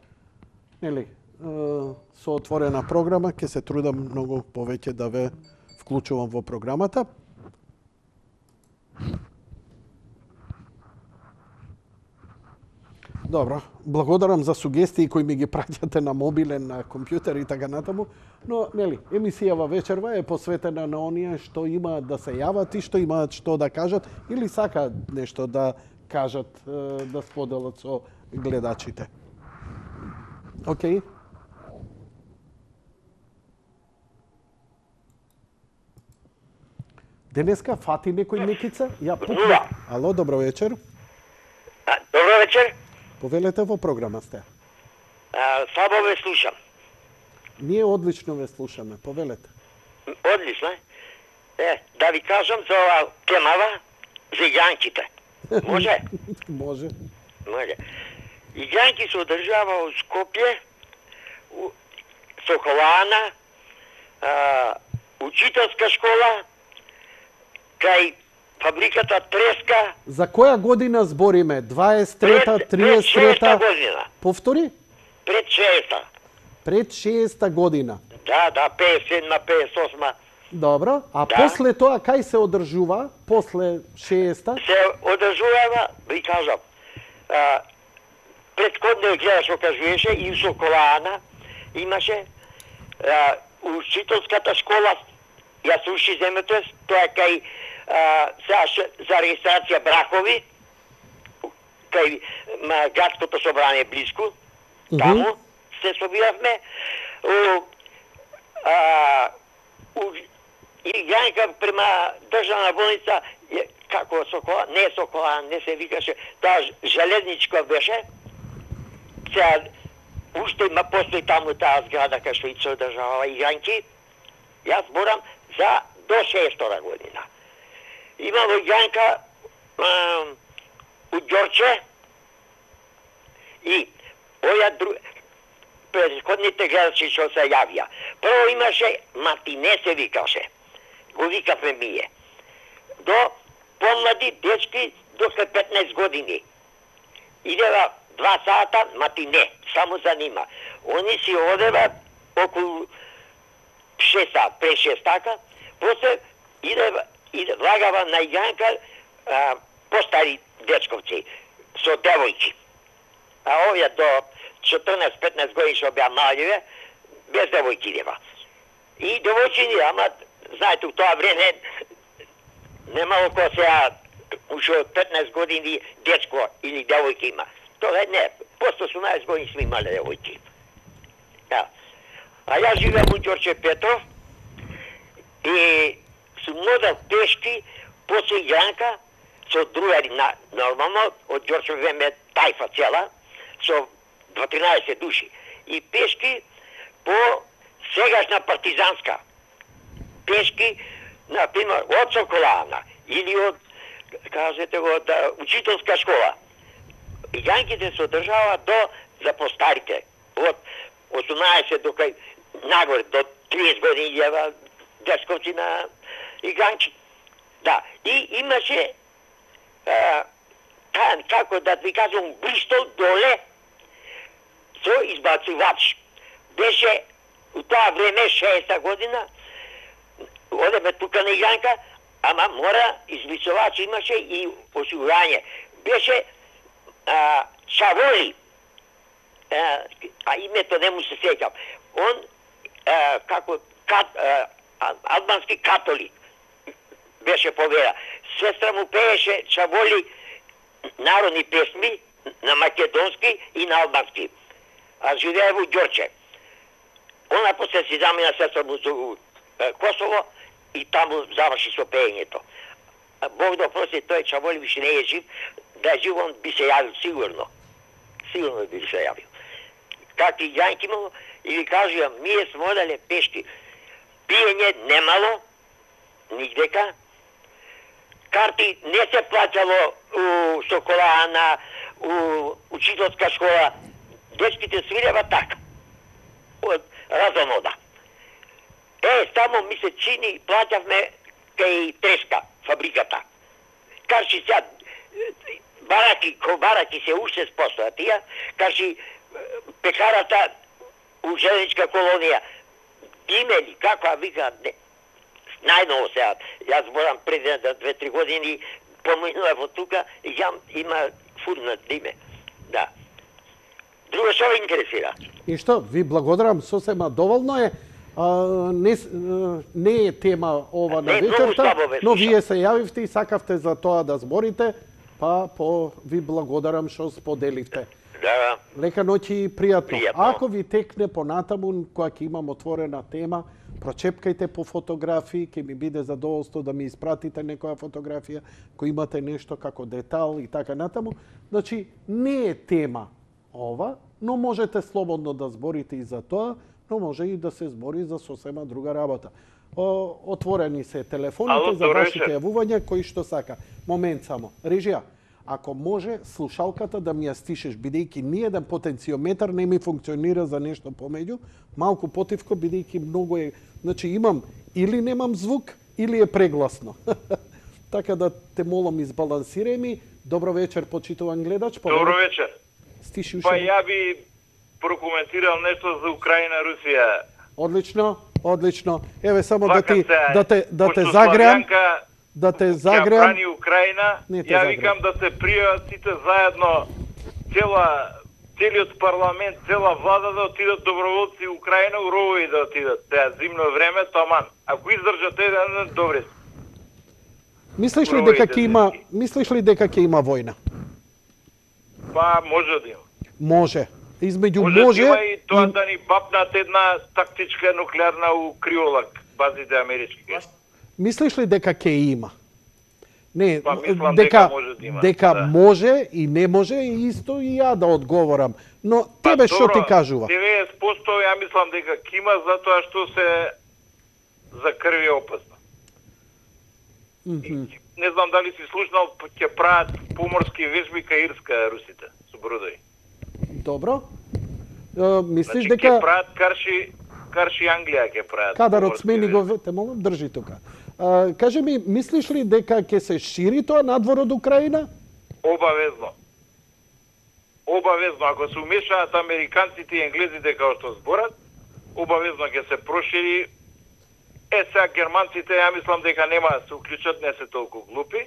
со отворена програма, ке се трудам многу повеќе да ве вклучувам во програмата. Добро, благодарам за сугестии кои ми ги праќате на мобилен, на компјутер и така натаму, но, емисијава вечерва е посветена на оние што имаат да се јават и што имаат што да кажат или сакаат нешто да кажат, да споделат со гледачите. Океј? Денеска фати некој некица? Ја пукна. Ало, добро вечер. Добро вечер. Повелете, во програма сте. Слабо ве слушам. Ние одлично ве слушаме, повелете. Одлично. Да ви кажам за ова темава, за игранките. Може? Може. Игранки се одржава во Скопје, Соколана, учителска школа, кај фабриката Треска. За која година збориме? 23-та, 33-та? година. Повтори? Пред 60-та. Пред 60-та година. Да, 57-ма, 58-ма. Добро. А после тоа, кај се одржува? После 60-та? Се одржува, ви кажам, предходниот гледаш што кажуваше, и у Соколана имаше учителската школа, ја се уши земето, тоа кај за регистрација бракови, кај градското собрание близко, таму се собиравме. И Јанка према државна болница, како Сокола, не Сокола, не се викаше, таа железничка беше. Сега, уште има постои таму таа зграда кај што и се одржаваа игранки. Јас зборам за до 6-та година. Има во Јанка у Ѓорче и предходните гледачи што се јавија. Прво имаше матине се викаше. Го викавме ние. До помлади дечки до 15 години. Идева 2 сата матине, само за нима. Они си одева околу 6 сат, пред 6 така, после влагава на Јанка постари дечковци со девојки. А овие до 14-15 години што беа малјиве, без девојки идева. И девојчини, ама, знаете, у тоа време немало кој сега уште од 15 години дечко или девојки има. Тоа не, после 18 години сме имале девојки. А јас живеам у Ѓорче Петров и сум модел пешки после Јанка со другари, нормално, од Ѓорче време тајфа цела, со 13 души. И пешки по сегашна партизанска. Пешки например, од Соколана или од, кажете го, од учителска школа. Јанките се одржава до за постарите. Од 18 до кај нагоре, до 30 години јава дечковци на игранки. Да, и имаше како да ви кажам, бристол доле со избацувач. Беше у тоа време 60-та година, одеме тука на игранка, ама мора избацувач имаше и осигурање. Беше Чаволи, а името не му се сеќам. Он како албански католик беше повера. Сестра му пееше Чаволи народни песми на македонски и на албански. А живее во Ѓорче. Она после си замина сестра му за Косово и таму заврши со пеењето. Бог да прости, тој Чаволи више не е жив. Да е жив, он би се јавил сигурно. Сигурно би се јавил. Как и Јанки имало, и ви кажувам, ние сме одале пешки. Пиење немало, нигдека. Карти не се плаќало у Соколана, у учителска школа. Дечките свирева така. Од разонода. Само ми се чини, плаќавме кај Треска, фабриката. Кажи сега, бараки се уште спостоја тие, кажи пекарата у желеничка колонија. Имели, каква вика, најново сега, јас морам преди 2-3 години поминував од тука и има фурнат име. Да. Друго што ве интересира? И што, ви благодарам, сосема доволно е. Не е тема ова на вечерта, но вие се јавивте и сакавте за тоа да зборите, па ви благодарам што споделивте. Да. Лека ноќ и пријатно. Ако ви текне понатаму, кога ќе имам отворена тема, прочепкајте по фотографии, ќе ми биде задоволство да ми испратите некоја фотографија, кој имате нешто како детал и така натаму. Значи, не е тема ова, но можете слободно да зборите и за тоа, но може и да се збори за сосема друга работа. Отворени се телефоните за вашите јавувања, кои што сака. Момент само. Режија, ако може слушалката да ми ја стишеш, бидејќи ниеден потенциометар не ми функционира за нешто помеѓу, малку потивко, бидејќи многу е... Значи имам или немам звук, или е прегласно. Така да те молам, избалансирај ми. Добро вечер, почитуван гледач. Добро вечер. Стиши Па ја би прокоментирал нешто за Украина, Русија. Одлично, одлично. Еве само да те загреам. Да те загреам. Ја брани Украина, ја викам да се пријават сите заедно, целиот парламент, цела влада да отидат доброволци Украина, уровови да отидат. Теа зимно време, таман. Ако издржат еден, добре. Мислиш ли дека ќе има војна? Па може да има. Може. Измеѓу може да има и тоа да ни бапнат една тактичка нуклеарна у Криолак, базите амерички. Мислиш ли дека ќе има? Не, па, мислам дека може да има. Дека може и не може, исто и ја да одговорам. Но тебе што ти кажува? 90% ја мислам дека ќе има, затоа што се за крви опасно. Не знам дали си слушнал, ќе прават поморски вежби кај Ирска русите со бродови. Добро. Мислиш значи, дека ќе прават карши Англија ќе прават. Кадарот смени го, те молам, држи тука. Кажи ми, мислиш ли дека ќе се шири тоа надвор од Украина? Обавезно. Обавезно, ако се умешаат американците и енглезите како што зборат, обавезно ќе се прошири. Сега германците, ја мислам дека нема да се уклучат, не се толку глупи,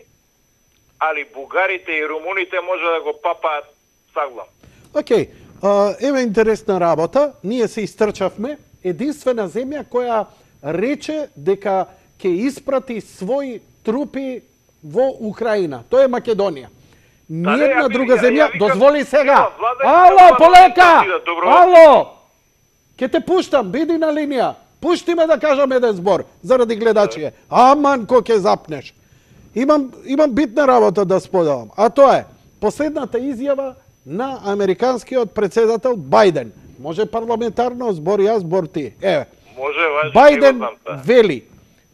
али бугарите и румуните може да го папаат саглам. Океј, еве интересна работа, ние се истрчавме, единствена земја која рече дека ќе испрати своји трупи во Украина. Тоа е Македонија. Ниједна друга земја, дозволи сега. Ало, полека! Ало! Ке те пуштам, биди на линија. Пушти ме да кажам еден збор, заради гледачите. Аман, ко ќе запнеш. Имам битна работа да споделам. А тоа е, последната изјава на американскиот председател Бајден. Може парламентарно, збор јас, збор ти. Еве. Може, Бајден вели,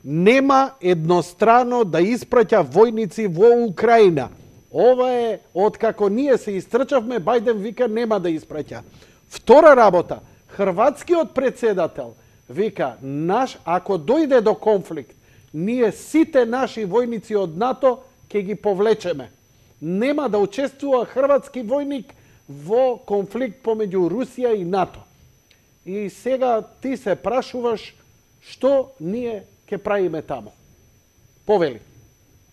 нема еднострано да испраќа војници во Украина. Ова е, откако ние се истрчавме, Бајден вика нема да испраќа. Втора работа, хрватскиот председател вика, ако дојде до конфликт, ние сите наши војници од НАТО ќе ги повлечеме. Нема да учествува хрватски војник во конфликт помеѓу Русија и НАТО. И сега ти се прашуваш што ние ќе правиме таму. Повели.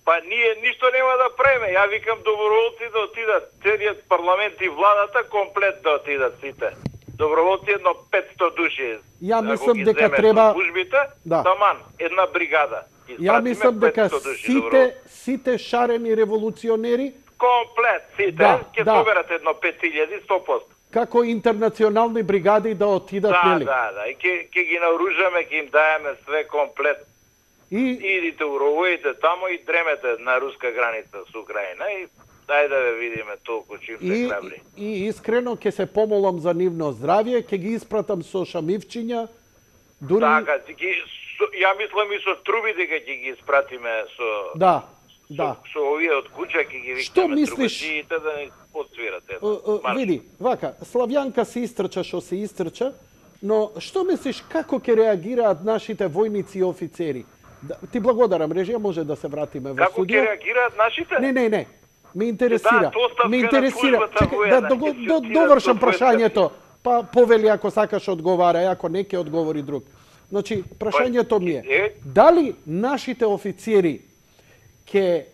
Па ние ништо нема да правиме. Ја викам доброволци да отидат, целиот парламент и владата комплет да отидат сите. Доброволци едно 500 души. Ја мислам дека треба службите, таман една бригада. Ја мислам дека сите шарени револуционери комплет сите ќе соберат едно 5000 100%. Како интернационални бригади да отидат, нели? Да. И ќе ги наоружаме, ќе им даеме све комплет. Идите уровоите тамо и дремете на руска граница со Украина и дај да ве видиме толку чим се храбри. И искрено ќе се помолам за нивно здравје, ќе ги испратам со шамивчиња. Дури... Така, ја мислам и со трубите ќе ги испратиме со... Да. Со овие од куќа ќе ги викнеме. Што мислиш? Трубачиите да не подсвирате. Види, вака, Славјанка се истрча што се истрча, но што мислиш како ќе реагираат нашите војници и офицери? Ти благодарам, режија, може да се вратиме во Како студио. ќе реагираат нашите? Не. Ме интересира. Чекај, да довршам прашањето. Па повели ако сакаш одговара, ако не ќе одговори друг. Значи, прашањето ми е, дали нашите офицери ќе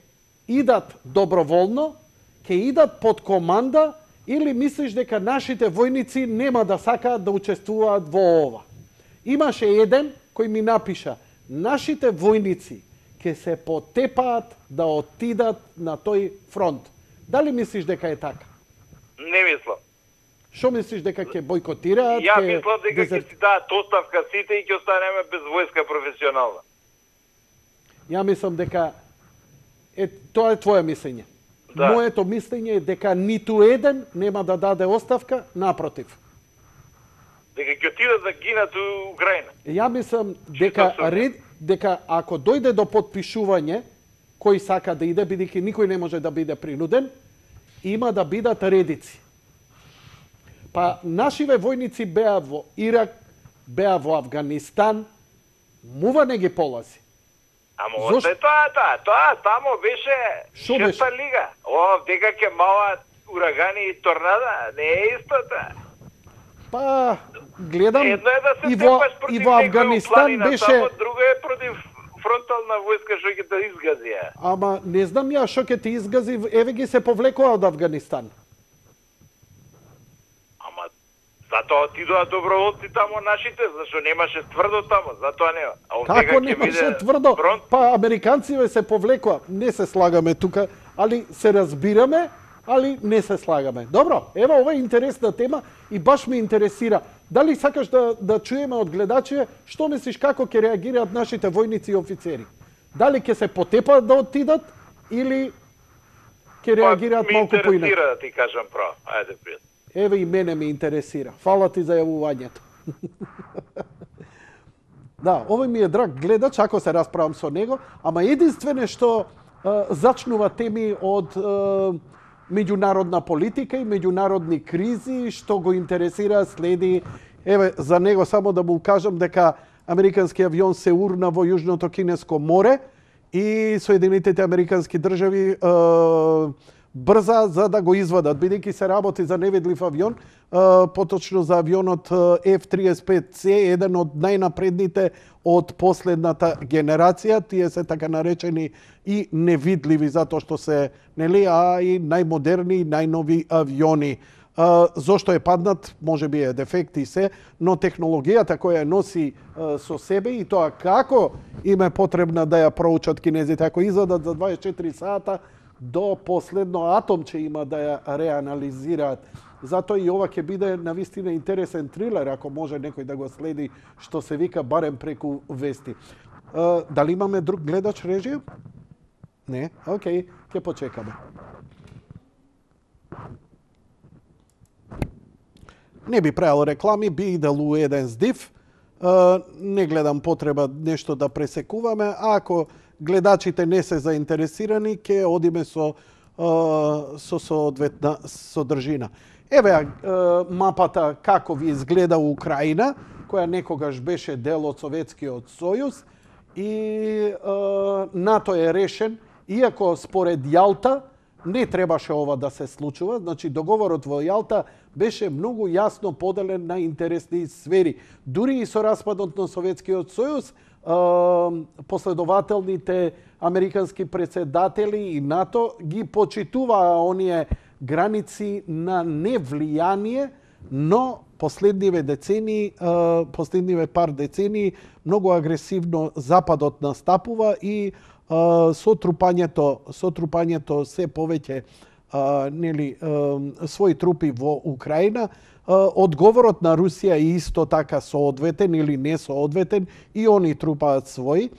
идат доброволно, ќе идат под команда, или мислиш дека нашите војници нема да сакаат да учествуваат во ова? Имаше еден кој ми напиша, нашите војници ќе се потепаат да отидат на тој фронт. Дали мислиш дека е така? Не мислам. Што мислиш, дека ќе бойкотираат? Ја мислам дека ќе си дадат оставка сите и ќе останеме без војска професионална. Ја мислам дека тоа е твое мислење. Да. Моето мислење е дека ниту еден нема да даде оставка, напротив. Дека ќе отидат да гинат у Украина. Ја мислам дека ако дојде до подпишување, кој сака да иде, бидејќи никој не може да биде принуден, има да бидат редици. Па нашиве војници беа во Ирак, беа во Авганистан, мува не ги полази. Ама оце тоа тамо беше шеста лига. Ова дека ќе маваат урагани и торнада, не е истото. Па гледам едно е да се и во Авганистан беше, друго е против фронтална војска што ќе те изгази. Ама не знам ја што ќе те изгази, еве ги се повлекоа од Авганистан. Затоа отидоа доброволци тамо нашите, зашто немаше тврдо тамо, затоа нема. Како немаше тврдо? Па американците се повлекоа. Не се слагаме тука, али се разбираме, али не се слагаме. Добро, ево ова е интересна тема и баш ме интересира. Дали сакаш да чуеме од гледачите што мислиш како ќе реагираат нашите војници и офицери? Дали ќе се потепаат да отидат или ќе реагираат малку поинаку? Ме интересира да ти кажам право. Ајде пријатно. Еве и мене ме интересира. Фала ти за јавувањето. Да, овој ми е драг гледач, ако се расправам со него, ама единствено што зачнува теми од меѓународна политика и меѓународни кризи, што го интересира, следи. Еве, за него само да му кажам дека американски авион се урна во Јужното Кинеско море и Соединетите американски држави брза за да го извадат, бидејќи се работи за невидлив авион, поточно за авионот F-35C, еден од најнапредните од последната генерација. Тие се така наречени и невидливи затоа што се, нели, а и најмодерни и најнови авиони. Зошто е паднат, може би е дефект и се, но технологијата која носи со себе и тоа како им е потребна да ја проучат кинезите, ако извадат за 24 сата, до последно атомче има да ја реанализираат. Затоа и ова ќе биде навистина интересен трилер, ако може некој да го следи, што се вика барем преку вести. Дали имаме друг гледач, режија? Не? Океј, ќе почекаме. Не би правил реклами, би иделу еден здив. Не гледам потреба нешто да пресекуваме. Ако гледачите не се заинтересирани, ќе одиме со соодветна содржина. Еве мапата како ви изгледа Украина, која некогаш беше дел од Советскиот сојуз и НАТО е решен, иако според Јалта не требаше ова да се случува, значи договорот во Јалта беше многу јасно поделен на интересни сфери. Дури и со распадот на Советскиот сојуз, последователните американски председатели и НАТО ги почитуваа оние граници на невлијание, но последниве пар децении многу агресивно Западот настапува и со трупањето се повеќе своји трупи во Украина. Одговорот на Русија е исто така соодветен или не соодветен, и они трупаат своји.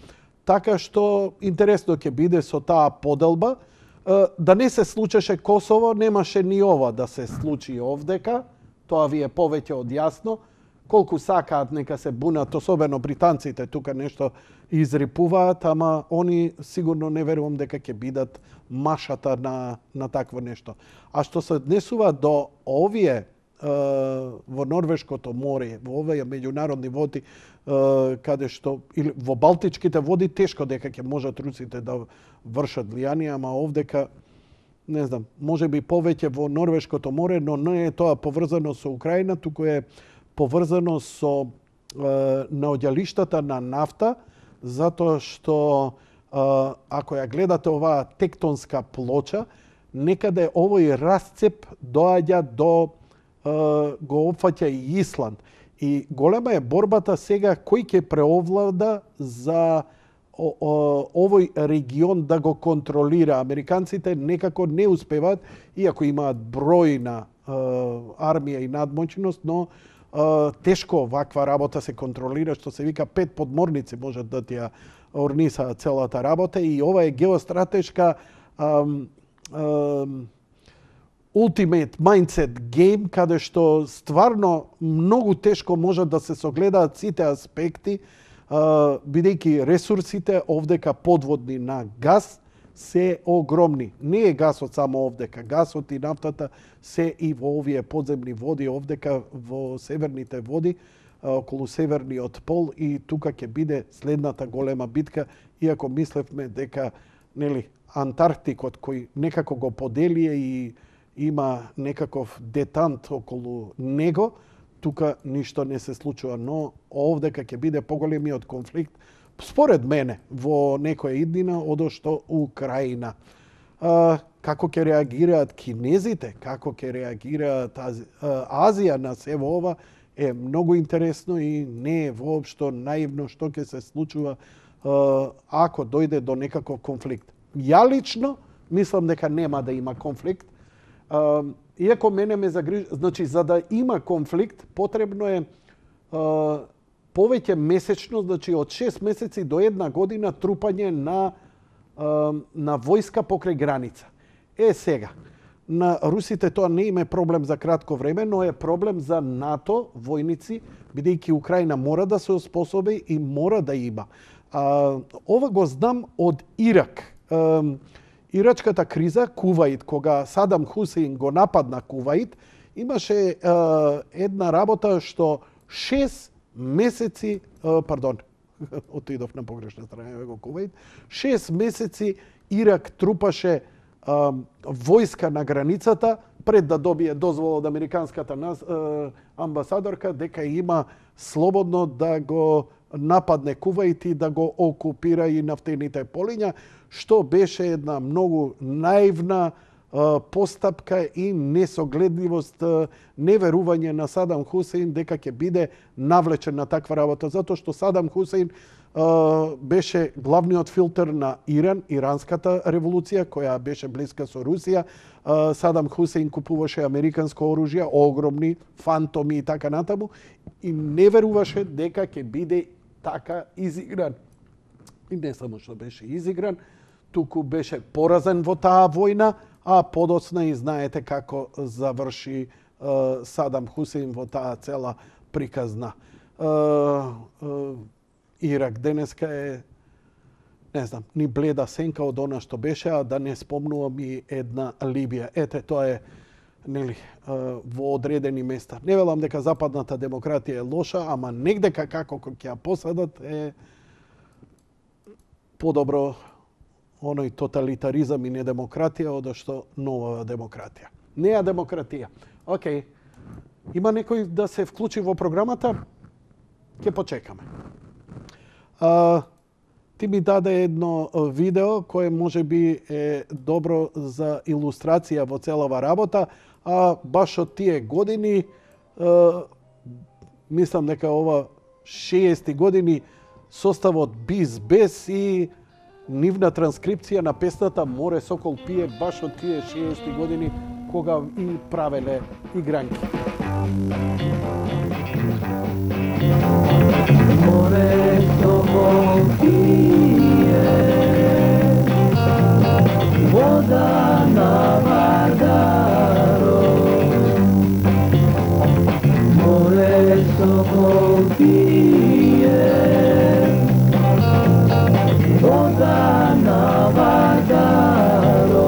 Така што интересно ќе биде со таа поделба. Да не се случеше Косово, немаше ни ова да се случи овдека. Тоа ви е повеќе од јасно. Колку сакаат нека се бунат, особено британците тука нешто изрипуваат, ама они сигурно не верувам дека ќе бидат машата на такво нешто. А што се однесува до овие во Норвешкото море, во овие меѓународни води, каде што или во Балтичките води, тешко дека ќе можат русите да вршат влијание, ама овдека не знам, можеби повеќе во Норвешкото море, но не е тоа поврзано со Украина, туку е поврзано со наоѓалиштата на нафта, затоа што ако ја гледате оваа тектонска плоча, некаде овој расцеп доаѓа до го опфаќа и Исланд. И голема е борбата сега кој ќе преовлада за овој регион да го контролира. Американците некако не успеваат, иако имаат бројна армија и надмоćност, но тешко ваква работа се контролира, што се вика 5 подморници можат да ти ја орнисаат целата работа, и ова е геостратешка ultimate mindset game, каде што стварно многу тешко можат да се согледаат сите аспекти, бидејќи ресурсите овдека подводни на газ се огромни. Не е гасот само овдека, гасот и нафтата се и во овие подземни води овдека во северните води, околу северниот пол, и тука ќе биде следната голема битка, иако мислевме дека Антарктикот кој некако го поделие и има некаков детант околу него, тука ништо не се случува, но овдека ќе биде поголемиот конфликт, според мене, во некоја иднина одошто Украина. Како ќе реагираат кинезите, како ќе реагираат Азија на се во ова, е многу интересно и не е воопшто наивно што ќе се случува ако дојде до некаков конфликт. Ја лично мислам дека нема да има конфликт. Иако мене ме загрижува, значи за да има конфликт потребно е повеќе месечно, значи од 6 месеци до 1 година трупање на војска покрај граница. Сега, на русите тоа не им е проблем за кратко време, но е проблем за НАТО војници, бидејќи Украина мора да се оспособи и мора да има. Ова го знам од Ирак. Ирачката криза, Куваит, кога Садам Хусеин го нападна Куваит, имаше една работа што 6 месеци, отидов на погрешна страна го Куваит, 6 месеци Ирак трупаше војска на границата пред да добие дозвола од американската амбасадорка дека има слободно да го нападне Куваит и да го окупира и нафтените полиња, што беше една многу наивна постапка и несогледливост, неверување на Садам Хусеин дека ќе биде навлечен на таква работа, затоа што Садам Хусеин беше главниот филтер на Иран, иранската револуција, која беше блиска со Русија. Садам Хусеин купуваше американско оружје, огромни, фантоми и така натаму, и не веруваше дека ќе биде така изигран. И не само што беше изигран, туку беше поразен во таа војна, а подоцна и знаете како заврши Садам Хусеин во таа цела приказна. Ирак денеска е, не знам, ни бледа сенка од она што беше, а да не спомнувам и една Либија. Ете, тоа е, нели, во одредени места. Не велам дека западната демократија е лоша, ама негдека како ќе ја посадат е подобро оној тоталитаризам и недемократија одошто нова демократија. Неа демократија. Океј. Има некој да се вклучи во програмата? Ќе почекаме. Ти ми даде едно видео кое може би е добро за илустрација во целава работа, а баш од тие години, мислам дека ова 60 години составот Биз Бес и нивна транскрипција на песната Море Сокол пие баш од тие 60 години кога и правеле игранки. Море Сокол пие, вода на Вардаро. Море Сокол пие, вода на Вардаро.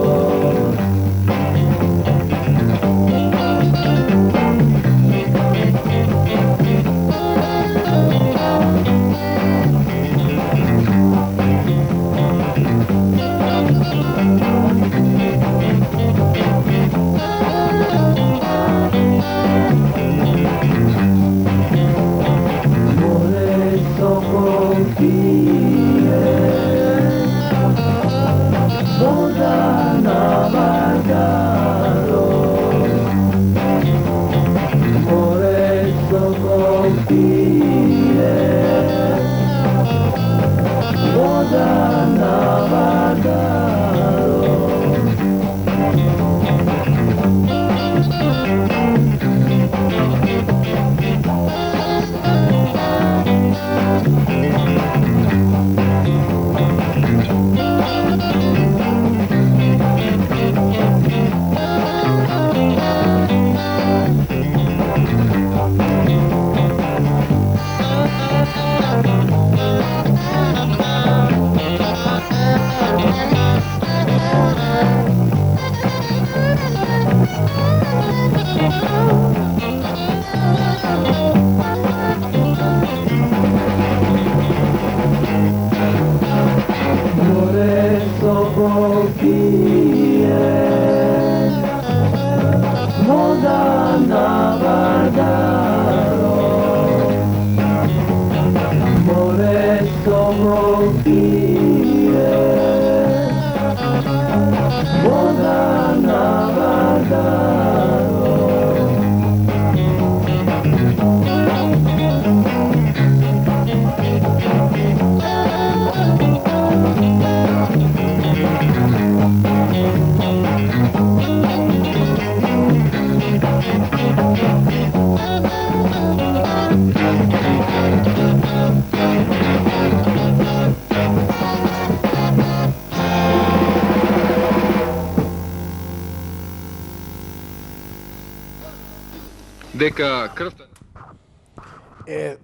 Дека крвта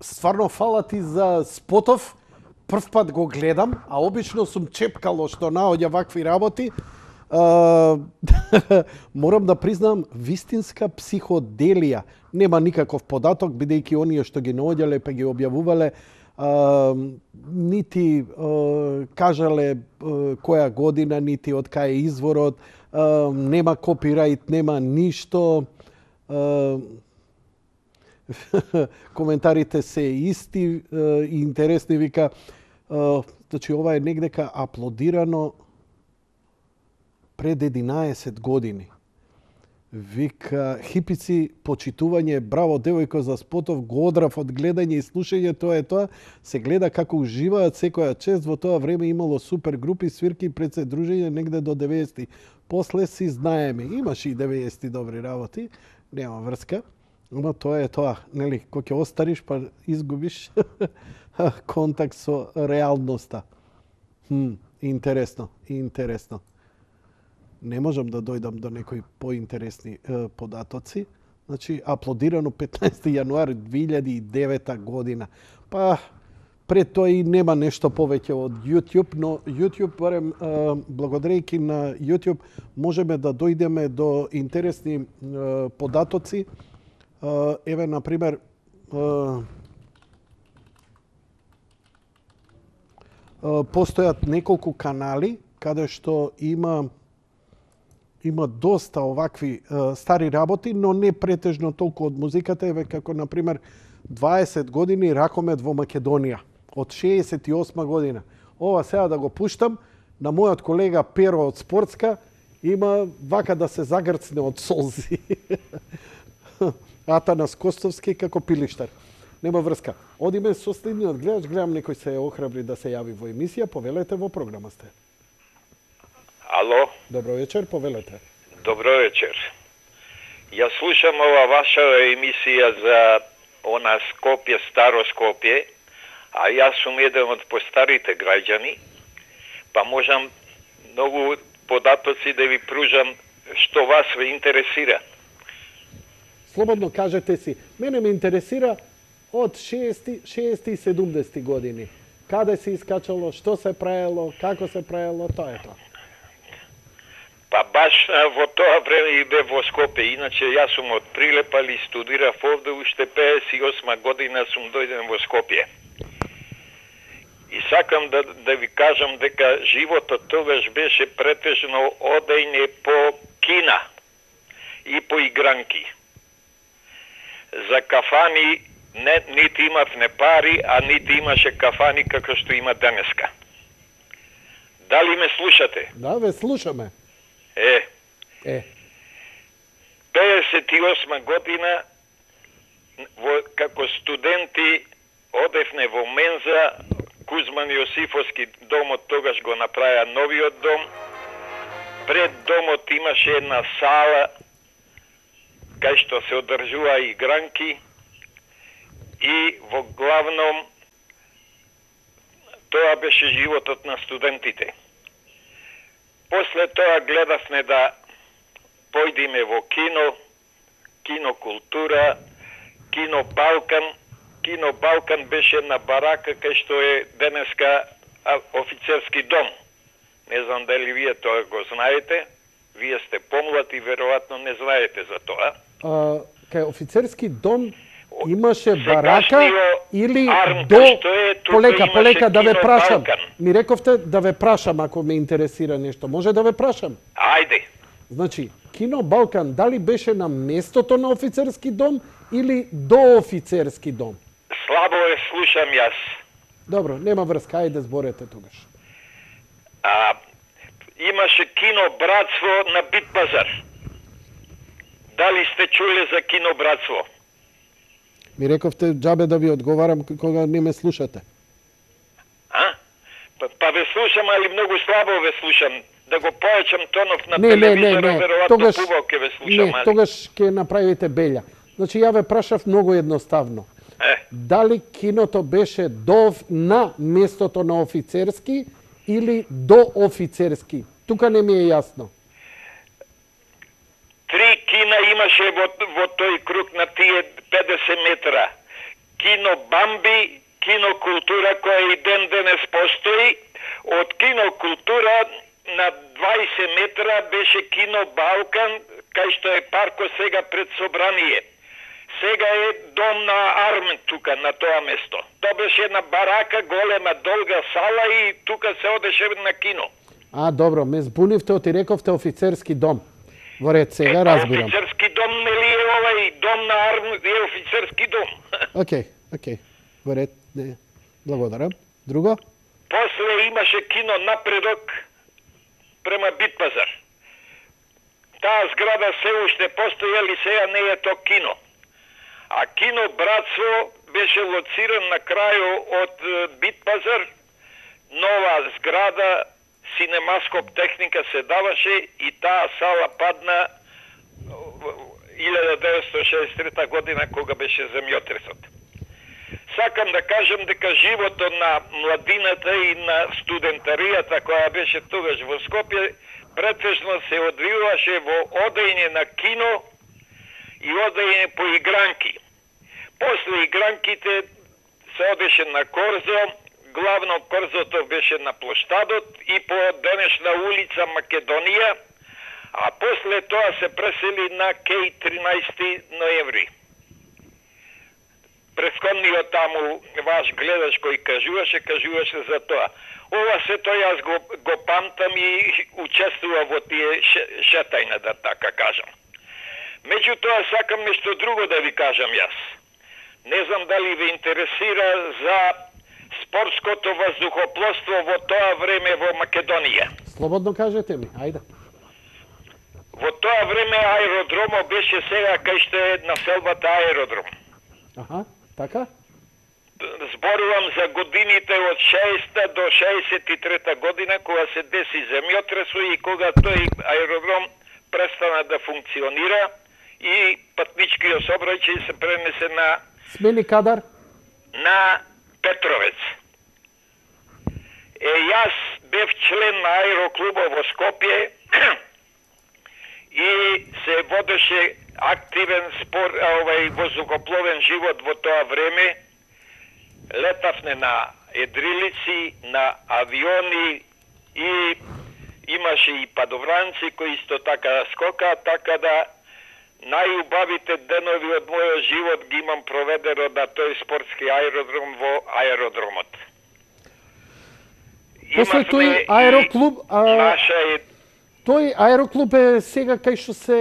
стварно фала ти за спотов. Прв пат го гледам, а обично сум чепкало што наоѓа вакви работи. Морам да признам, вистинска психоделија. Нема никаков податок, бидејќи оние што ги наоѓале па ги објавувале, нити кажале која година, нити од кај е изворот, нема копирајт, нема ништо. Коментарите се исти и интересни, вика, значи ова е негдека аплодирано пред 11 години. Вика, хипици, почитување, браво девојко за спотов, го одрав од гледање и слушање, тоа е тоа. Се гледа како уживаат секоја чест, во тоа време имало супер групи, свирки, пред се дружење негде до 90-ти. После си знаеме, имаше и 90-ти добри работи, нема врска. Ама тоа е тоа, нели, кога ќе остариш па изгубиш контакт со реалноста. Интересно, интересно. Не можам да дојдам до некои поинтересни податоци. Значи, аплодирано 15. јануари 2009 година. Па, пред тоа и нема нешто повеќе од YouTube, но YouTube, барем, благодарејќи на YouTube, можеме да дојдеме до интересни податоци. Еве, например, постојат неколку канали каде што има доста овакви стари работи, но не претежно толку од музиката, еве како например 20 години Ракомет во Македонија од 68 година. Ова сега да го пуштам на мојот колега Перо од Спортска, има вака да се загрцне од солзи. Атанас Костовски како пилиштар. Нема врска. Одиме со следниот гледач, гледам некој се охрабри да се јави во емисија, повелете, во програма сте. Ало? Добро вечер, повелете. Добро вечер. Ја слушам ова ваша емисија за она Скопје, Старо Скопје, а јас сум еден од постарите граѓани, па можам многу податоци да ви пружам што вас ве интересира. Слободно кажете си, мене ме интересира од 60 и 70 години. Каде се искачало, што се правело, како се правело, тоа е тоа. Па баш во тоа време и бе во Скопје, иначе јас сум од Прилеп, али студирав овде, уште 58 година сум дојден во Скопје. И сакам да ви кажам дека животот тогаш беше претежно одење по кина и по игранки. За кафани нити имавме пари, а нити имаше кафани како што има денеска. Дали ме слушате? Да, ве слушаме. 58 година како студенти одевме во Менза, Кузман Јосифовски домот тогаш го направија новиот дом. Пред домот имаше една сала кај што се одржува игранки и во главном тоа беше животот на студентите. После тоа гледавме да појдеме во кино, кинокултура, кино Балкан. Кино Балкан беше на барака кај што е денеска офицерски дом. Не знам дали вие тоа го знаете. Вие сте помлад и веројатно не знаете за тоа. Кај офицерски дом имаше барака или до... Полека, да ве прашам. Ми рековте да ве прашам ако ме интересира нешто. Може да ве прашам? Ајде. Значи, кино Балкан дали беше на местото на офицерски дом или до офицерски дом? Слабо ве слушам јас. Добро, нема врска, ајде зборете тогаш. Имаше кино Братство на Битпазар. Дали сте чуле за кино Братство? Ми рековте џабе да ви одговарам кога не ме слушате. Па ве слушам, али многу слабо ве слушам. Да го појачам тонов на телевизорот, веројатно побаво ќе ве слушам. Не, тогаш ќе направите белја. Значи, ја ве прашав многу едноставно. Дали киното беше на местото на офицерски или до офицерски? Тука не ми е јасно. 3 кина имаше во тој круг на тие 50 метра. Кино Бамби, кино Култура, која и ден денес постои. Од кино Култура на 20 метра беше кино Балкан, кај што е парко сега пред собрание. Сега е дом на Армен тука, на тоа место. Тоа беше една барака, голема, долга сала и тука се одеше на кино. Добро, ме збунивте, оти рековте офицерски дом. Во ред, сега разбирам. Офицерски дом, нели е овај дом на Армен, е офицерски дом. Океј. Во ред, не. Благодарам. Друго? После имаше кино Напредок према Битпазар. Таа зграда се уште постои, али сега не е то кино. А кино Братство беше лоциран на крају од Битпазар, нова зграда, синемаскоп техника се даваше и таа сала падна 1963 година кога беше земјотресот. Сакам да кажам дека животот на младината и на студентаријата која беше тогаш во Скопје претежно се одвиваше во одење на кино и одење по игранки. После игранките се одеше на корзо, главно корзото беше на площадот и по денешна улица Македонија, а после тоа се пресели на кеј 13 ноември. Претходниот таму ваш гледач кој кажуваше за тоа. Ова се тоа јас го памтам и учествува во тие шетајна, да така кажам. Меѓутоа сакам нешто друго да ви кажам јас. Не знам дали ви интересира за спортското воздухопловство во тоа време во Македонија. Слободно кажете ми, ајде. Во тоа време аеродромот беше сега кај што е населбата аеродром. Аха, така? Зборувам за годините од 60 до 63 година, кога се деси земјотресо и кога тој аеродром престана да функционира и патничкиот сообраќај се пренесе на Смени кадар? На Петровец. Јас бев член на аероклубот во Скопје и се водеше активен воздухопловен живот во тоа време. Летавме на едрилици, на авиони и имаше и падовранци кои исто така скока, така да најубавите денови од мојот живот ги имам проведено на тој спортски аеродром во аеродромот. После тој аероклуб, тој аероклуб е сега кај што се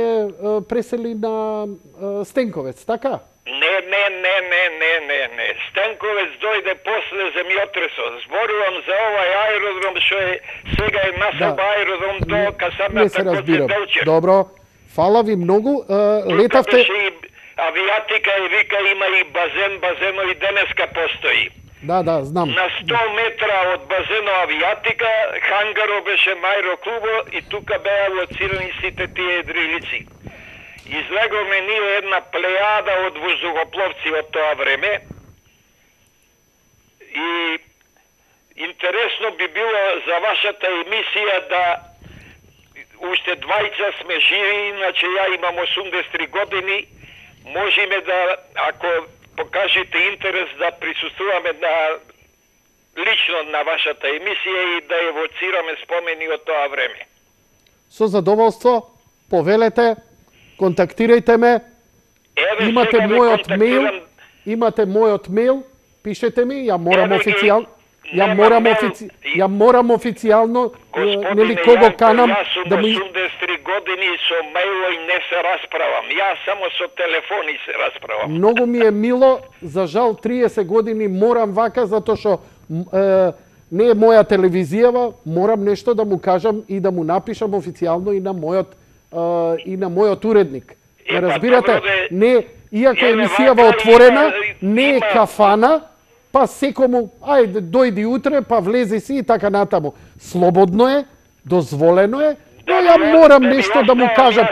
пресели на Стенковец, така? Не. Стенковец дојде после земјотресот. Зборувам за овај аеродром што е сега е населба аеродром до касарната Гоце Делчев. Добро. Фала ви многу. Летавте... И авиатика и вика има и базено и денеска постои. Да, знам. На 100 метра од базено авиатика, хангаро беше на аероклубо и тука беа лоцирани сите тие едрилици. Излеговме ние една плејада од воздухопловци од тоа време и интересно би било за вашата емисија да уште двајца сме живи, иначе ја имам 83 години, можеме да, ако покажете интерес, да присуствуваме лично на вашата емисија и да евоцираме спомени од тоа време. Со задоволство, повелете, контактирајте ме, имате мојот мејл, пишете ми, ја морам официјално, нели кого канам да ми... Јас сум 83 години со мејло и не се расправам. Јас само со телефони се расправам. Многу ми е мило, за жал 30 години морам вака, затоа што не е моја телевизијава, морам нешто да му кажам и да му напишам официјално и на мојот уредник. Не разбирате? Не, иако емисијава отворена, не е кафана, па секому, ајде, дојди утре, па влези си и така натаму. Слободно е, дозволено е, но ја морам нешто да му кажам.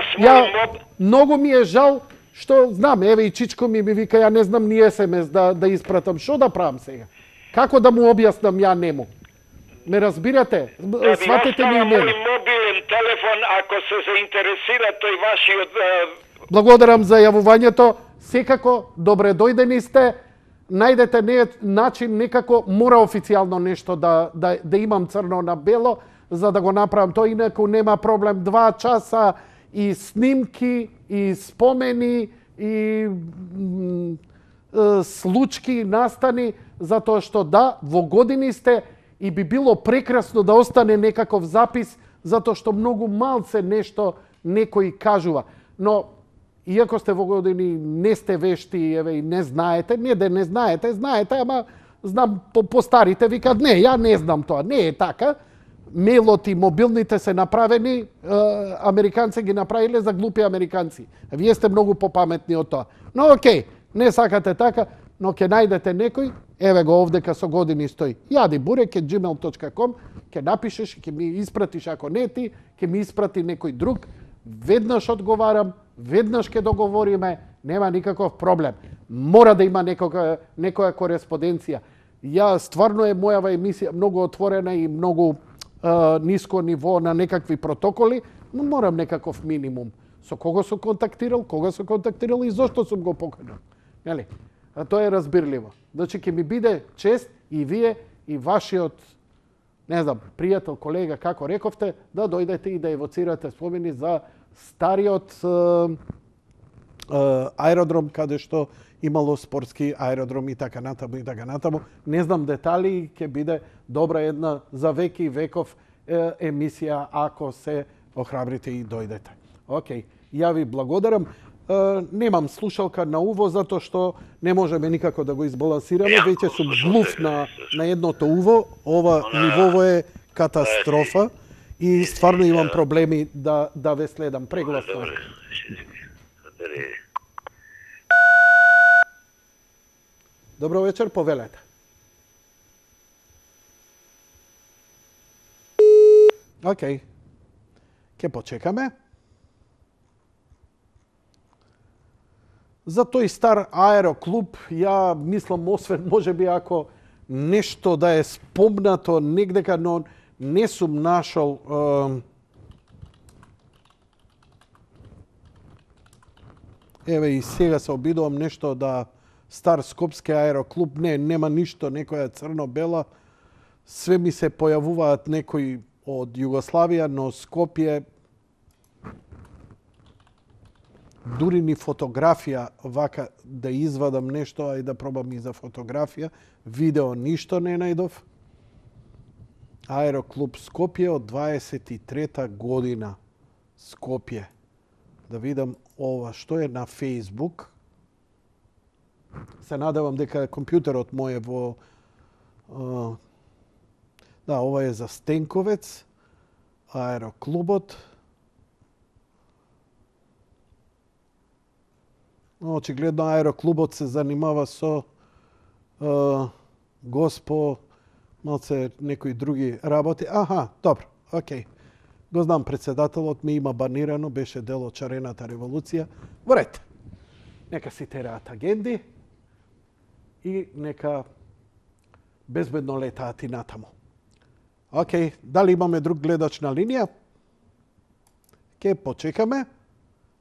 Многу ми е жал што, знам, еве и Чичко ми вика, ја не знам ни СМС да испратам. Шо да правам сега? Како да му објаснам ја нему? Ме разбирате? Сватете ми и мене. Мој мобилен телефон, ако се заинтересира тој вашиот... Благодарам за јавувањето. Секако, добре дојдени сте. Најдете начин, некако мора официјално нешто да имам црно на бело, за да го направам тоа, инаку нема проблем. 2 часа и снимки, и спомени, и случки, настани, затоа што да, во години сте и би било прекрасно да остане некаков запис, затоа што многу малце нешто некој кажува. Но иако сте во години, не сте вешти, еве, и не знаете, не да не знаете, ама знам по старите викат, не, ја не знам тоа, не е така. Мејлот и мобилните се направени, американци ги направиле за глупи американци. Вие сте многу попаметни од тоа. Но окей, не сакате така, но ќе најдете некој, еве го овдека со години стои. jadiburek@gmail.com, ќе напишеш, ќе ми испратиш, ако не ти, ќе ми испрати некој друг. Веднаш одговарам, веднаш ќе договориме, нема никаков проблем. Мора да има некоја кореспонденција. Ја стварно е мојава емисија многу отворена и многу ниско ниво на некакви протоколи, но морам некаков минимум. со кого сум контактирал, кога сум контактирал и зошто сум го поканил. Нели? А тоа е разбирливо. Значи ќе ми биде чест и вие и вашиот, не знам, пријател, колега, како рековте, да дојдете и да евоцирате спомени за стариот аеродром каде што имало спортски аеродром и така натаму и така натаму. Не знам детали, ќе биде добра една за веки и веков емисија ако се охрабрите и дојдете. Океј, ја ви благодарам. Немам слушалка на уво затоа што не можеме никако да го избалансираме. Веќе сум глув на едното уво. Ова нивово е катастрофа и стварно имам проблеми да ве следам прегласно. Добро вечер, повелете. Океј. Ке почекаме. За тој стар аероклуб, ја мислам, освен можеби ако нешто да е спомнато негдека, но не сум нашол еве и сега се обидувам нешто да стар скопски аероклуб, нема ништо, некоја црно-бела, све ми се појавуваат некои од Југославија, но Скопје дури ни фотографија вака да извадам нешто, а и да пробам и за фотографија, видео ништо не најдов. Аероклуб Скопје од 23-та година. Скопје. Да видам ова што е на Facebook. Се надевам дека компјутерот мој е во да, ова е за Стенковец, аероклубот. Очигледно аероклубот се занимава со госпо, малце некои други работи. Аха, добро, окей. Го знам, председателот ми има банирано, беше дел од Чарената револуција. Во ред. Нека си тераат агенди и нека безбедно летаат и натаму. Океј, дали имаме друг гледач на линија? Ке почекаме.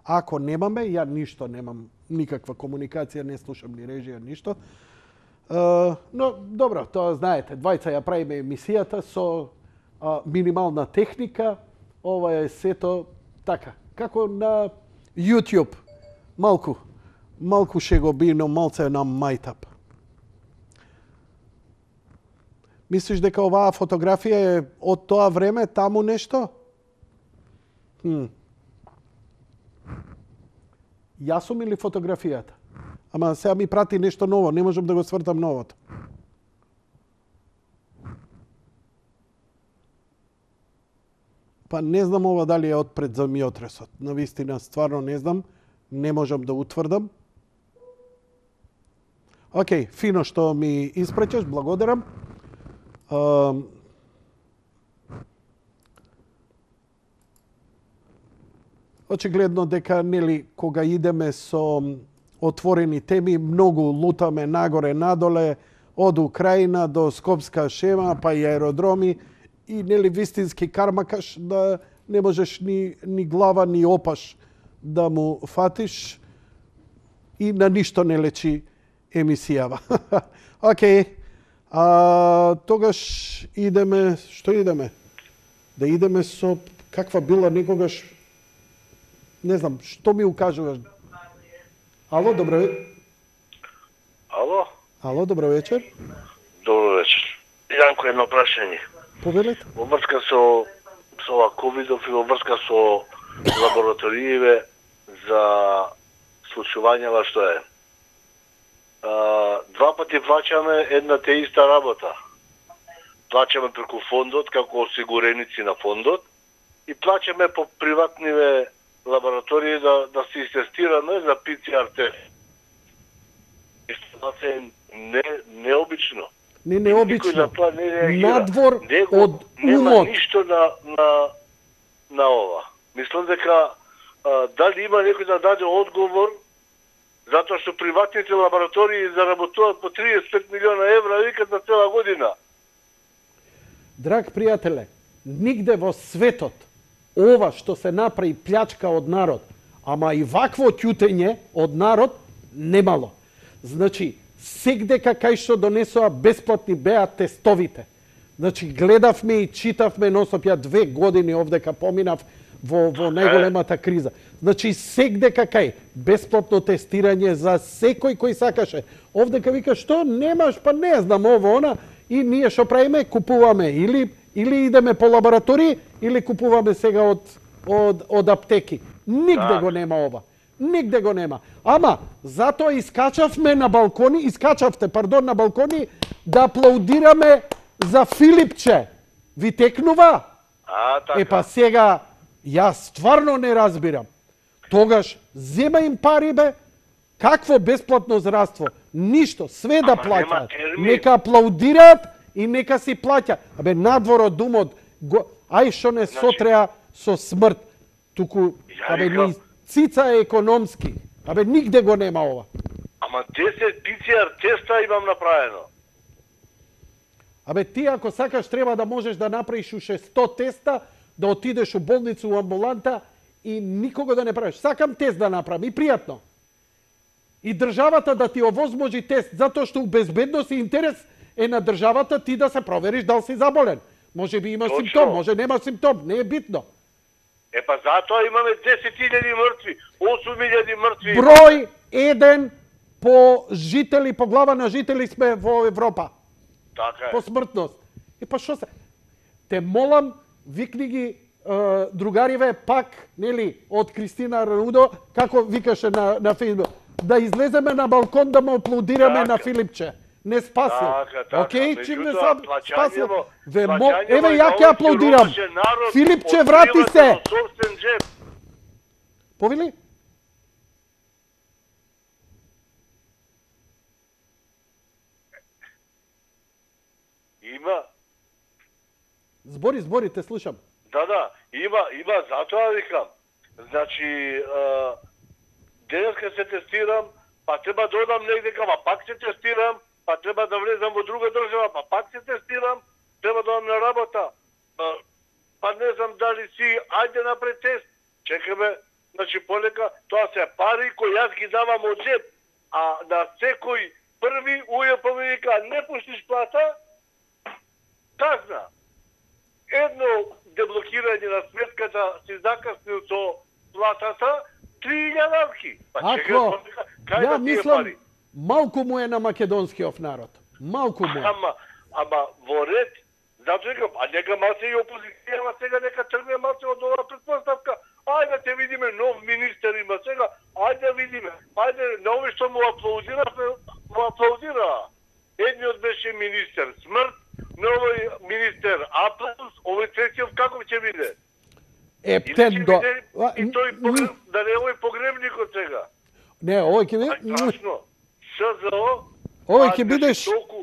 Ако немаме, ја ништо немам, никаква комуникација, не слушам ни режија, ништо. Но, добро, тоа знаете, двајца ја правиме емисијата со минимална техника. Ова е сето така, како на YouTube. Малку шегобино, малце на мајтап. Мислиш дека оваа фотографија е од тоа време, таму нешто? Јас сум или фотографијата? Ама сега ми прати нешто ново, не можам да го свртам новото. Па не знам ова дали е отпред земјотресот. Навистина, стварно не знам. Не можам да утврдам. Океј, фино што ми испречеш, благодарам. Очигледно дека, нели, кога идеме со отворени теми, многу лутаме нагоре, надоле, од Украина до Скопска шема, па и аеродроми, и, нели, вистински кармакаш, да не можеш ни глава, ни опаш да му фатиш и на ништо не лечи емисијава. Океј, тогаш идеме, што идеме? Да идеме со каква била некогаш, не знам, што ми укажуваш? Ало, добро вечер. Ало, добро вечер. Добро вечер. Јанко, едно прашање. Повелете. Во врска со ова ковидов и во врска со лабораториите за случувањава што е. Два пати плаќаме една те иста работа. Плаќаме преку фондот, како осигуреници на фондот, и плаќаме по приватниве лаборатории да се истестираме за PCR тест. Исто е необично. Не необично. Надвор од умот. Нема ништо на ова. Мислам дека дали има некој да даде одговор, затоа што приватните лаборатории заработуваат по 35 милиона евра викат за цела година. Драг пријателе, нигде во светот ова што се направи плячка од народ, ама и вакво ќутење од народ немало. Значи, сегдека кај што донесоа бесплатни беа тестовите. Значи, гледавме и читавме носоп, ја 2 години овдека поминав во најголемата криза. Значи, сегдека кај бесплатно тестирање за секој кој сакаше. Овдека вика, што немаш, па не знам ово, она, и ние што правиме, купуваме или идеме по лаборатории, или купуваме сега од аптеки. Нигде го нема ова. Нигде го нема. Ама, затоа искачавте на балкони да аплаудираме за Филипче. Ви текнува? Така. Па сега, јас стварно не разбирам. Тогаш, зема им пари, бе, какво бесплатно здравство? Ништо, све да плаќаат. Нека аплаудираат и нека си плаќа. Абе, надвор од думот, ај што не сотреа со смрт. Туку, абе, ни цица е економски. Абе, нигде го нема ова. Ама 10 PCR теста имам направено. Абе, ти ако сакаш треба да можеш да направиш уште 100 теста, да отидеш у болница, у амбуланта и никого да не правиш. Сакам тест да направам и пријатно. И државата да ти овозможи тест, затоа што у безбедност и интерес е на државата ти да се провериш дали си заболен. Може би имаш симптом, може нема симптом, не е битно. Па затоа имаме 10.000 мртви, 8.000 мртви. Број 1 по жители, по глава на жители сме во Европа. Така е. По смртност. Па што се? Те молам, викни ги другариве пак, нели, од Кристина Рудо, како викаше на Фейсбук, да излеземе на балкон да му аплаудираме на Филипче. Не спасил. Океј, чим не спасил. Еве, ја ќе аплаудирам. Филипче, врати се. Повели? Има. Збори, те слушам. Да, има, затоа викам. Значи, денеска се тестирам, па треба да одам негде, па пак се тестирам, па треба да влезам во друга држава, па пак се тестирам, треба да одам на работа. Па не знам дали си, ајде напред тест, чекаме, значи полека, тоа се пари кои јас ги давам од джеб, а на секој први УЈП ми вика, не пуштиш плата, казна. Едно деблокирање на сметката си закаснил со платата, 3.000 авки. Ако, ја мислам, малку му е на македонскиот народ. Малку му е. Ама во ред, зато викам, а нека малце и опозицијава сега нека тргне малце од оваа претпоставка. Ајде те видиме нов министер има сега, ајде видиме. Ајде, на овој што му аплаудира. Едниот беше министер смрт, новој министер аплаус, овој третиот како ќе биде? Ептен до... И тој да не овој погребникот сега. Не, овој ќе биде... СЗО... Овој ќе биде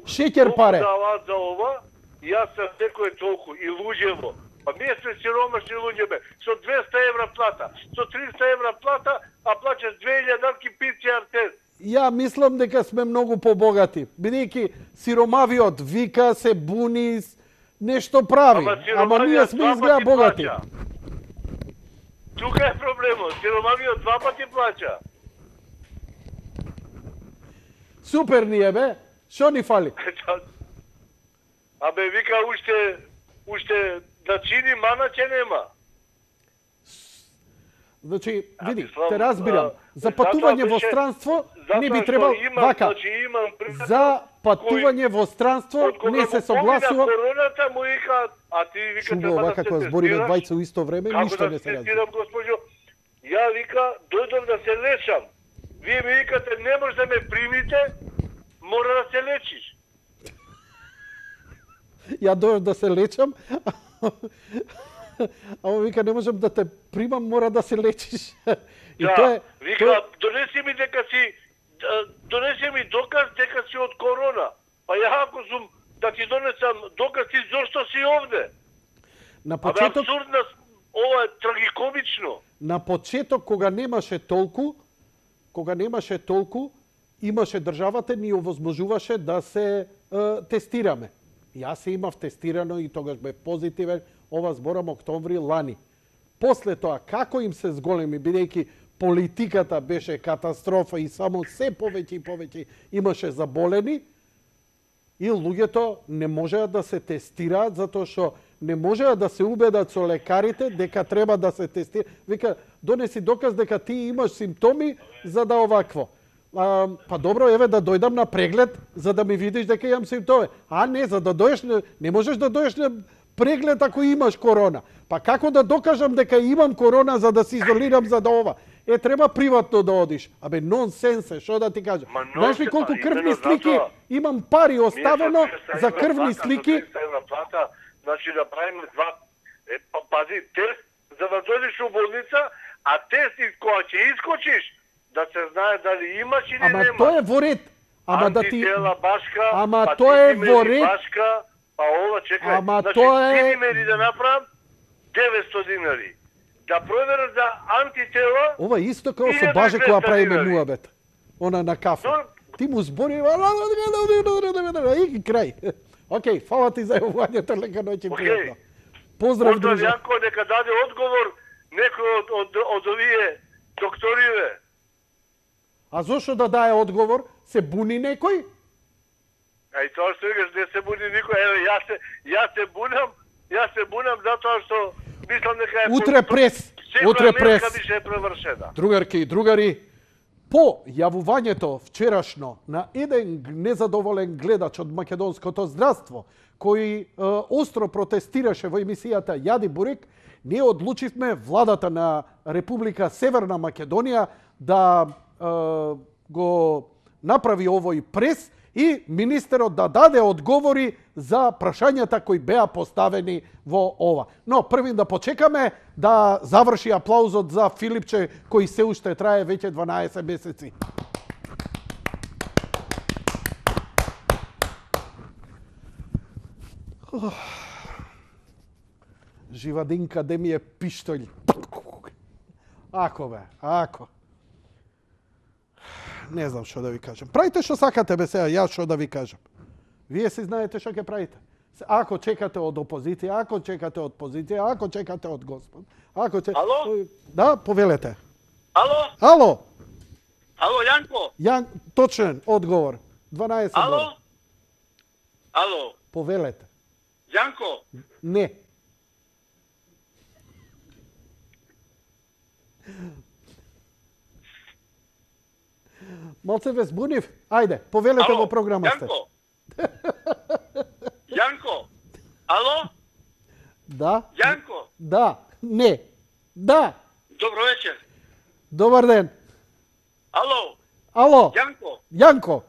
шеќер паре. Толку за ова, јас се секој толку и луѓево. Па ние сме сиромашни луѓе, со 200 евра плата, со 300 евра плата, а плачаш 2000 дарки PCR тест. Ја мислам дека сме многу побогати, бидејќи сиромавиот вика, се буни, нешто прави, ама ние сме изгледа богати. Плача. Тука е проблемот, сиромавиот 2 пати плача. Супер ни е, бе, шо ни фали? Абе, вика, уште да чини мана ќе нема. Значи, види, те разбирам. За патување во странство не би требал вака. За патување во странство не се согласува. Короната му вика, а ти вика треба да се тестираш. Збориме двајца у исто време, ништо не се разбира. Ја вика, дојдов да се лечам. Вие ми викате, не може да ме примите, мора да се лечиш. Ја дојдов да се лечам, ама вика, не можам да те примам, мора да се лечиш. И да, вика, донеси ми доказ дека си од корона. Па ја ако сум да ти донесам доказ ти зошто си овде. На почеток, абсурдно, ова е трагикомично. На почеток кога немаше толку, имаше државата ни овозможуваше да се тестираме. Јас се имав тестирано и тогаш бе позитивен, ова зборам октомври лани. После тоа, како им се зголеми, бидејќи политиката беше катастрофа и само се повеќе и повеќе имаше заболени, и луѓето не можеа да се тестираат затоа што не можеа да се убедат со лекарите дека треба да се тестира. Вика, донеси доказ дека ти имаш симптоми за да овакво. Па добро, еве да дојдам на преглед за да ми видиш дека имам симптоми. А не, за да дојдеш, не можеш да дојдеш на преглед ако имаш корона. Па како да докажам дека имам корона за да се изолирам за да ова? Треба приватно да одиш. Абе, нонсенс, што да ти кажам. Знаеш ли колку крвни слики имам пари оставено за крвни слики? Значи да правиме два, пази, тест за да дојдеш у болница, а тест кога ќе искочиш, да се знае дали имаш или нема. немаш. Ама тоа е во ред. Ама да ти... Антитела башка, ама па тоа е во ред. Башка, па ова, чекај. Ама значи, тоа е... динари да направам, 900 динари. Да проверам за антитела... Ова исто како со Баже кога правиме муабет. Она на кафе. Ти му збори... И крај. Океј, фала ти за јавувањето, лека ноќ и пријатно. Поздрав, друже. Јанко, нека даде одговор некој од овие докториве. А зошто да даде одговор? Се буни некој? И тоа што викаш, не се буни никој. Еве, јас се бунам затоа што мислам дека е... Утре прес. Бише е превршена. Другарки и другари, по јавувањето вчерашно на еден незадоволен гледач од македонското здравство, кој остро протестираше во емисијата Јади Бурек, ние одлучивме владата на Република Северна Македонија да го направи овој прес и министерот да даде одговори за прашањата кои беа поставени во ова. Но првин да почекаме да заврши аплаузот за Филипче кој се уште трае веќе 12 месеци. Живадинка де ми е пиштолј. Ако бе, ако. Не знам што да ви кажам. Правите што сакате бе сега, јас што да ви кажам. Вие си знаете што ќе правите. Ако чекате од опозиција, ако чекате од позиција, ако чекате од Господ. Ако Ало? Да, повелете. Ало? Ало? Ало, Јанко? Точен одговор. 12 Ало? години. Ало? Повелете. Јанко? Не. Малце ве збунив? Ајде, повелете во програма сте. Јанко? Јанко? Ало? Да? Јанко? Да. Не. Да. Добро вечер. Добар ден. Ало? Ало? Јанко? Јанко?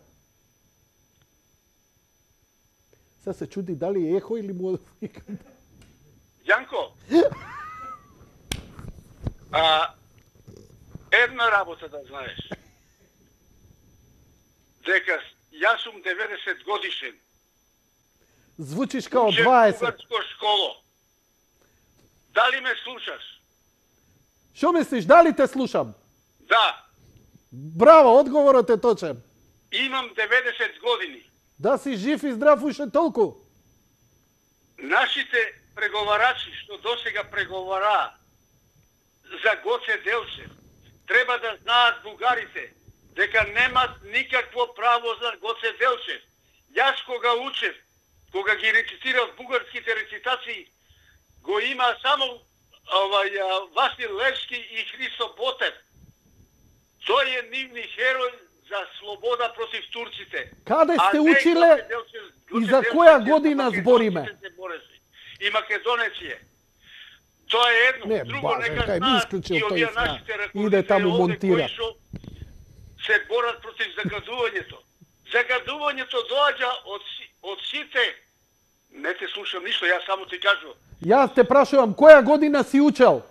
Сега се чуди дали е ехо или му... Јанко? Една работа да знаеш. Дека јас сум 90 годишен. Звучиш као Учев 20. бугарско школо. Дали ме слушаш? Шо мислиш, дали те слушам? Да. Браво, одговорот е точен. Имам 90 години. Да си жив и здрав уште толку. Нашите преговарачи што досега преговараа за Гоце Делчев, треба да знаат бугарите дека немат никакво право за Гоце Делчев. Јас кога учев, кога ги рецитирав бугарските рецитации, го има само Васил Левски и Христо Ботев. Тој е нивни херој за слобода против турците. Каде сте училе и за која година збориме? И македонец е. Тоа е едно. Не, друго, Боже, нека кај ми знаат исклучил и тој овие зна. нашите Иде таму раколници монтира. кои што се борат против загадувањето. Загадувањето доаѓа од сите. Не те слушам ништо, јас само ти кажувам. Јас те прашувам, која година си учел?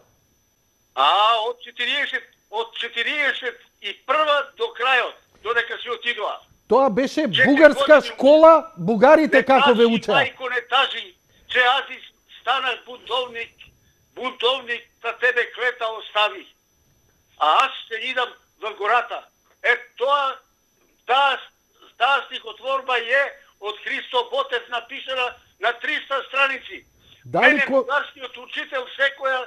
Од 41 до крајот, додека си отидоа. Тоа беше бугарска школа, бугарите како ве учеа? Мајко не тажи, че ази станах бунтовник, за тебе клета остави. А аз ще идам во гората. Таа стихотворба е од Христо Ботев напишана на 300 страници. Мене бугарскиот учител секоја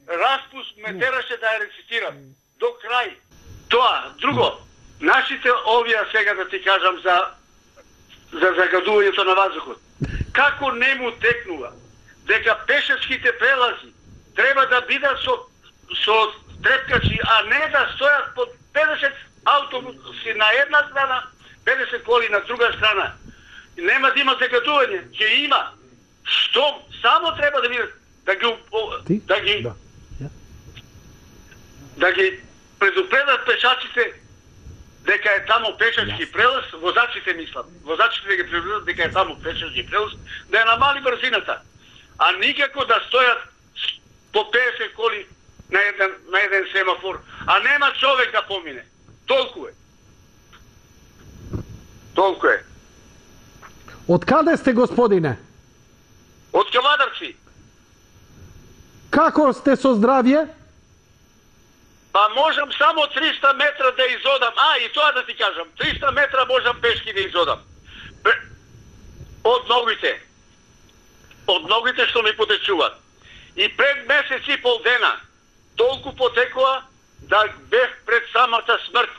распуст ме тераше да ја рецитирам. до крај. Тоа, друго, нашите овие сега да ти кажам за загадувањето на ваздухот. Како не му текнува дека пешачките прелази треба да бидат со трепкачи, а не да стојат под 50 автобуси на една страна, 50 коли на друга страна. Нема да има загадување, ќе има. Што само треба да видат да ги предупредат пешачите дека е таму пешачки прелаз, возачите мислам. Возачите да ги предупредат дека е таму пешачки прелаз, да ја намали брзината. А никако да стојат по 50 коли на еден семафор, а нема човек да помине. Толку е. Толку е. Од каде сте, господине? Од Кавадарци. Како сте со здравје? Па можам само 300 метра да изодам. И тоа да ти кажам. 300 метра можам пешки да изодам. Од ногите. Од ногите што ми потечуваат. И пред месец и пол дена толку потекува да бев пред самата смрт.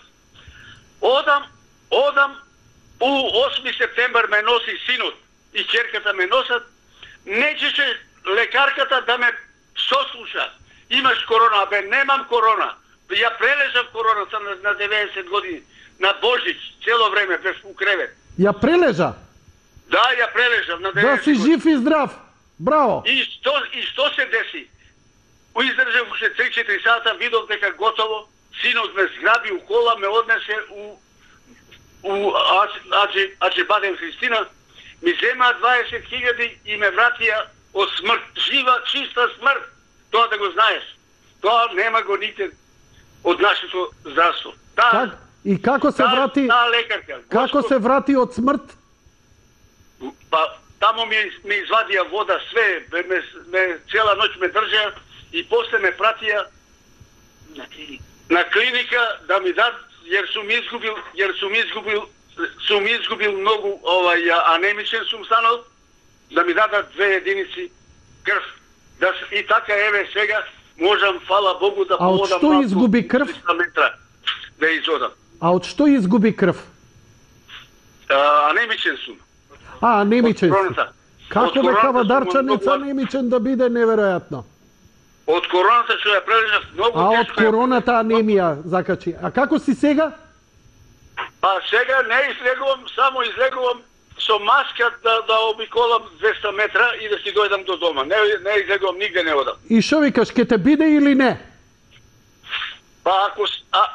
Одам у 8 септембар ме носи синот и ќерката ме носат. Нечеше лекарката да ме сослуша. Имаш корона, немам корона. Ја прележав короната на 90 години, на Божич, цело време без у кревет. Ја прележа? Да, ја прележав на 90 години. Да си жив и здрав. Браво. И што се деси? Издржав уште 3-4 сата, видов дека готово, синот ме зграби у кола, ме однесе у Аџебаден Христина, ми земаа 20.000 и ме вратија од смрт, жива, чиста смрт. Тоа да го знаеш. Тоа нема го никде од нашето здравство. И како се врати? Како се врати од смрт? Па таму ми извадија вода, све, цела ноќ ме држеа и после ме пратија на клиника да ми дадат, јер сум изгубил многу анемичен сум станал, да ми дадат 2 единици крв. И така еве сега можам, фала Богу, да полодам. А од што изгуби крв? 300 метра да изодам. А од што изгуби крв? Анемичен сум. Анемичен сум. Како бе кавадарчанец анемичен да биде, неверојатно. Од короната што ја прележав многу тешко. Од короната анемија закачи. А како си сега? Па сега не излегувам, само излегувам со маска да обиколам 200 метра и да си дојдам до дома. Не излегувам, нигде не одам. И шо викаш, ке те биде или не? Па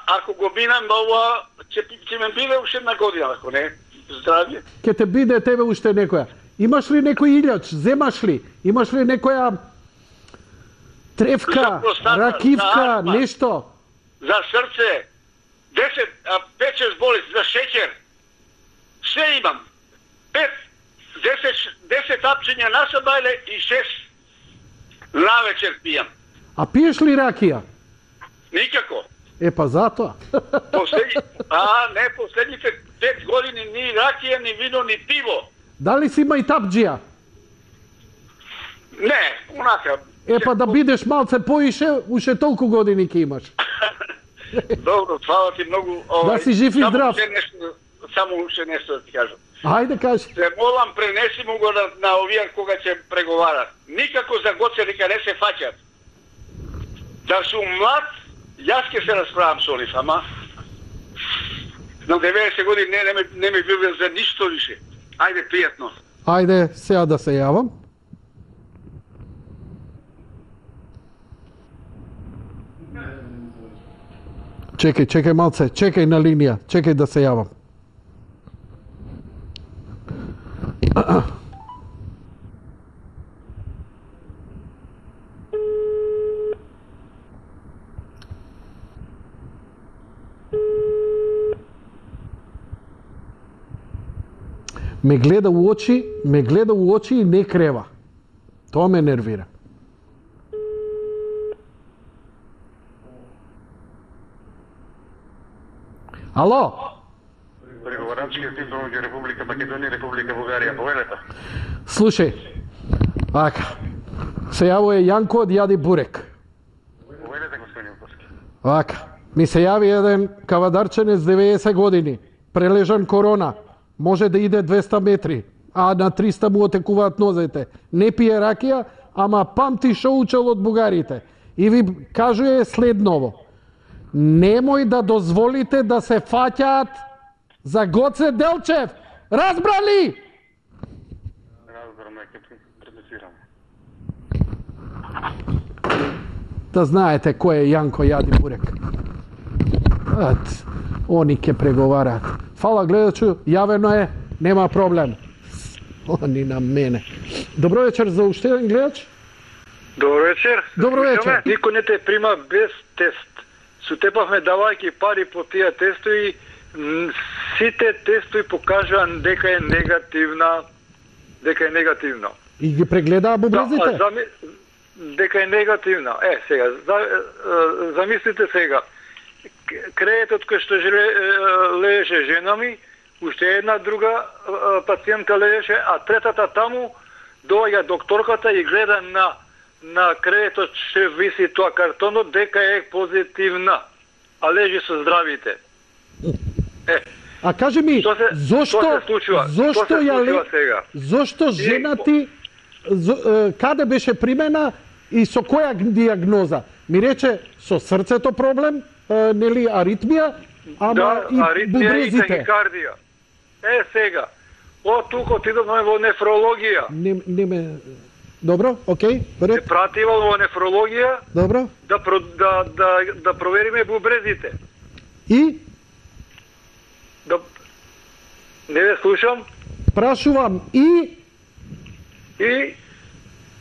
ако го минам ова, ќе ме биде уште една година, ако не, здравје. Ке те биде тебе уште некоја. Имаш ли некој илјач, земаш ли? Имаш ли некоја тревка, ракивка, нешто? За срце, 5-6 болести, за шеќер, се имам. 10 апчиња на сабајле и 6 навечер пијам. А пиеш ли ракија? Никако. Па затоа. Последните 5 години ни ракија, ни вино, ни пиво. Дали си мајтапџија? Не, унака. Па да бидеш малце поише, уште толку години ќе имаш. Добро, фала ти многу. Да си жив и здрав. Само уште нешто да ти кажам. Ајде кажи. Се молам, пренеси му го на овие кога ќе преговарат. Никако за Гоце дека не се фаќат. Да сум млад, јас ќе се расправам со нив, ама на 90 години не ми бил за ништо више. Ајде, пријатно. Ајде, сега да се јавам. Чекај малце, чекај на линија, чекај да се јавам. Ме гледа у очи и не крева. Тоа ме нервира. Ало? Преговарачкиот тим помеѓу Република Македонија и Република Бугарија, повелете. Слушај, се јавува Јанко од Јади Бурек. Повелете, господин Јанковски. Ми се јави еден кавадарченец 90 години, прележан корона, може да иде 200 метри, а на 300 му отекуваат нозете. Не пие ракија, ама памти шо учел од бугарите. И ви кажуе следново. Немој да дозволите да се фаќаат за Гоце Делчев. Разбрали? Разбраме, ќе предусираме. Да знаете кој е Јанко Јади Бурек. Они ќе преговараат. Фала гледачу, јавено е, нема проблем. Они на мене. Добро вечер за уште еден гледач. Добро вечер. Добро вечер. Никој не те прима без тест. Сутепавме давајќи пари по тие тестови, сите тестови покажаа дека е негативна. Дека е негативно. И ги прегледаа бубрезите? Дека е негативна. Сега, замислите сега. Креетот кој што лежеше жена ми, уште една друга пациентка лежеше, а третата таму доаѓа докторката и гледа на креетот што виси тоа картонот дека е позитивна, а лежи со здравите. А кажи ми, зошто жена ти каде беше примена и со која диагноза? Ми рече со срцето проблем, нели аритмија, ама и бубрезите. И тахикардија. Сега, од тука отидовме во нефрологија. Добро, окей, се пратива во нефрологија. Добро. Да провериме бубрезите. И? Не ве слушам. Прашувам и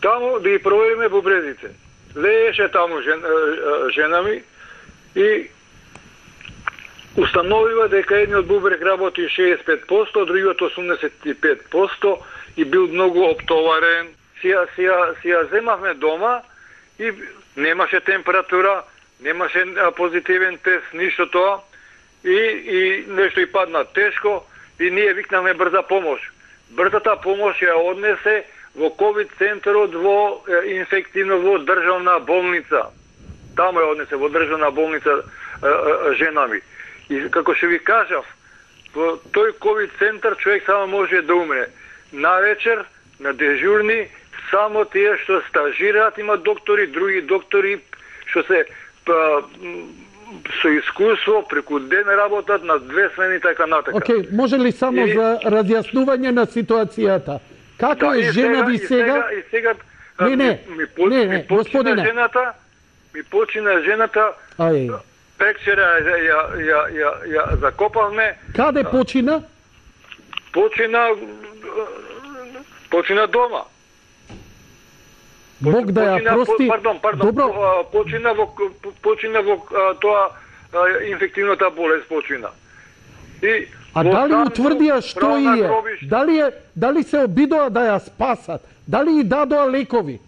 таму да ги провериме бубрезите. Лееше таму жена ми и установива дека едниот бубрек работи 65%, другиот 85% и бил многу оптоварен. Си ја земавме дома и немаше температура, немаше позитивен тест, ништо тоа. И нешто и падна тешко и ние викнавме брза помош. Брзата помош ја однесе во ковид центарот во инфективно во државна болница. Таму ја однесе во државна болница жена ми. И како што ви кажав, во тој ковид центар човек само може да умре. Навечер, на дежурни, само тие што стажираат има доктори, други доктори што се со искуство преку ден работат на 2 смени така натака. Океј, може ли само за разјаснување на ситуацијата? Како е жена ви сега? Не, господине. Ми почина жената. Пекчера ја закопавме. Каде почина? Почина дома. Бог да ја прости. Пардон. Добро. Почина во тоа инфективната болест почина. А дали утврдија што е? Дали се обидоа да ја спасат? Дали и дадоа лекови?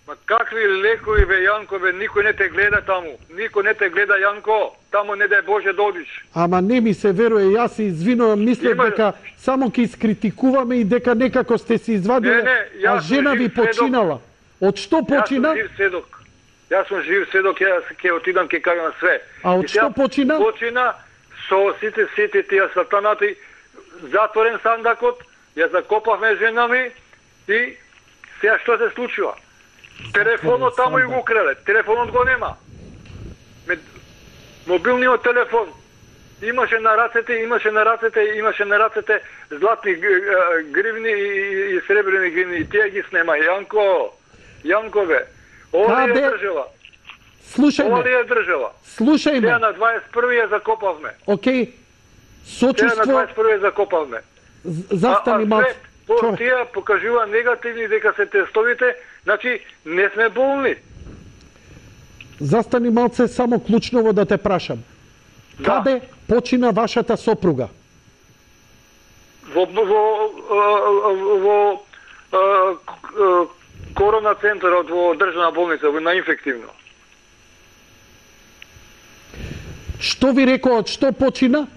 Ма какви лекови бе, Јанко, бе, никој не те гледа таму. Никој не те гледа, Јанко. Таму не дај Боже да одиш. Ама не ми се веруе, јас се извинувам, мислев дека само ќе искритикуваме и дека некако сте се извадиле, а жена ви починала. Од што почина? Јас сум жив сведок, јас ќе отидам, ќе кажам све. А од што почина? Почина со сите тие сатанати, затворен сандакот, ја закопавме жена ми и сега што се случува? Телефонот таму и го украле. Телефонот го нема. Мобилниот телефон имаше на рацете златни гривни и сребрени гривни и тие ги снема. Јанко бе. Ова ли е држава? Слушајме. Теја на 21 ја закопавме. Океј. Сочувство. Теја на 21 ја закопавме. Застани малце. Тие покажува негативни дека се тестовите, значи не сме болни. Застани малце, само клучново да те прашам. Каде почина вашата сопруга? Во корона центарот во државна болница, на инфективно. Што ви рекоа, од што почина?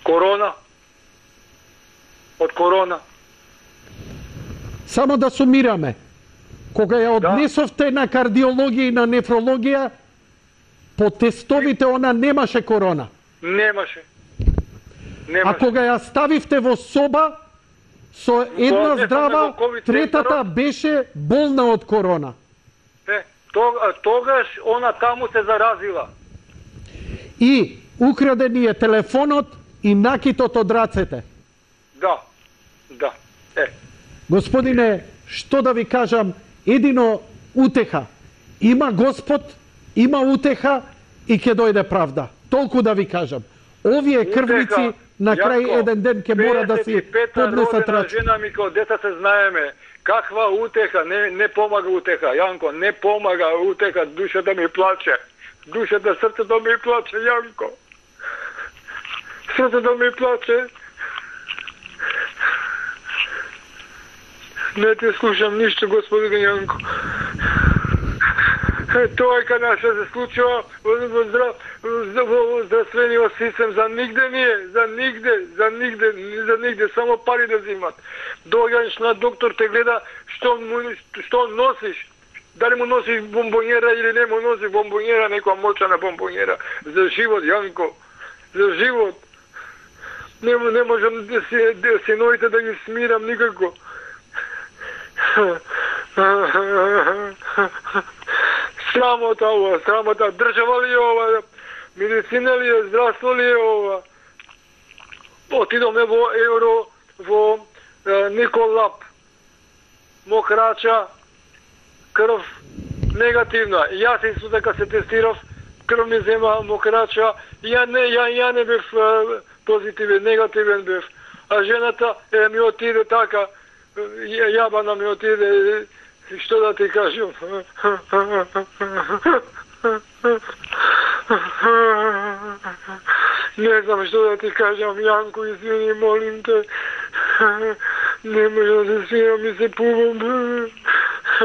Корона. Од корона. Само да сумираме. Кога ја однесовте на кардиологија и на нефрологија, По тестовите она немаше корона. Немаше. А кога ја ставивте во соба, со една здрава, третата беше болна од корона. Тогаш она таму се заразила. И украден е телефонот и накитот од рацете. Да. Господине, што да ви кажам, едино утеха. Има Господ, има утеха и ќе дојде правда. Толку да ви кажам. Овие крвници на крај еден ден ќе мора да си поднесат рачун. Жена ми као деца се знаеме. Каква утеха, не помага утеха, Јанко, не помага утеха, душата ми плаче. Душата, срцето ми плаче, Јанко. Срцето ми плаче. Не те слушам ништо, господин Јанко. Тоа е кај што се случува во здравствениот систем, за нигде не е, за нигде, само пари да взимат. Доаѓаш на доктор, те гледа што носиш, дали му носиш бомбонjera или не му носиш бомбонjera, некоја мочана бомбонjera. За живот, Јанко, за живот. Не можам синовите да ги смирам никако. Срамота ова, срамота. Држава ли е ова? Медицина ли е? Здравство ли е ова? Отидоме во Евро, во Николап. Мокрача, крв негативна. Јас исто така се тестирав, крв ми зема мокрача. Ја не бев позитивен, негативен бев. А жената ми отиде така, јабана ми отиде, што да ти кажам. Не знам што да ти кажам, Јанко, извини, молим те. Не може да се смирам и се пувам.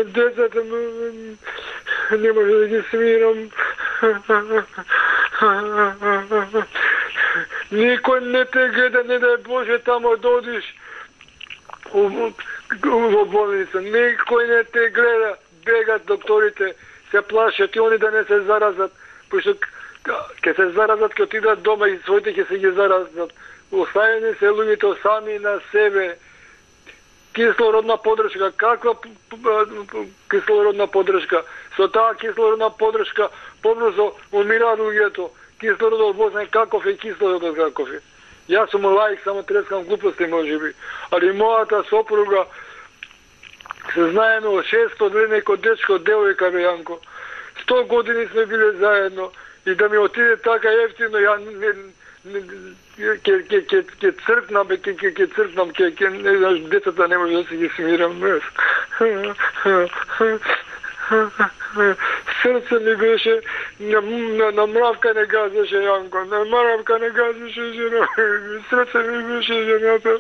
Децата не може да ги смирам. Никој не те гледа, не дај Боже тамо да одиш во болница. Никој не те гледа. Бегат докторите, се плашат и они да не се заразат. Пошто ќе се заразат, ќе отидат дома и своите ќе се ги заразат. Оставени се луѓето сами на себе. Кислородна поддршка. Каква кислородна поддршка? Со таа кислородна поддршка побрзо умираат луѓето. Кислородот возен каков е, кислородот каков е. Јас сум лаик, само трескам глупости можеби. Али мојата сопруга се знаеме од 600 години како дечко, девојка бе, Јанко. 100 години сме биле заедно и да ми отиде така ефтино, ја ќе цркнам, ќе цркнам, не знаш, децата не може да се ги смирам. Срце ми беше, на мравка не газеше, Јанко, на мравка не газеше жена, срце ми беше жената.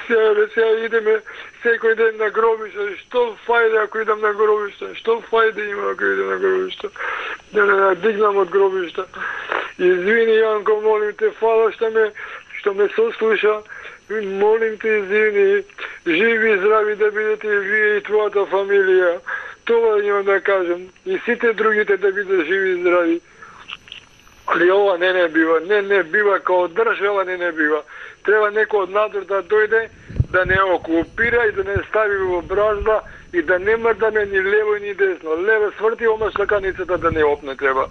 Сега идеме секој ден на гробиште. Што фајде ако идам на гробиште? Што фајде има ако идам на гробиште? Да не дигнам од гробишта. Извини, Јанко, молим те, фала што ме сослуша. Молим те, извини. Живи и здрави да бидете и вие и твојата фамилија. Това имам да кажам. И сите другите да бидат живи и здрави. Али ова не бива, као држава не бива. Треба некој од надвор да дојде, да не окупира и да не стави во бразда и да не мрдаме ни лево ни десно. Лево сврти, ома штаканицата да не опне треба.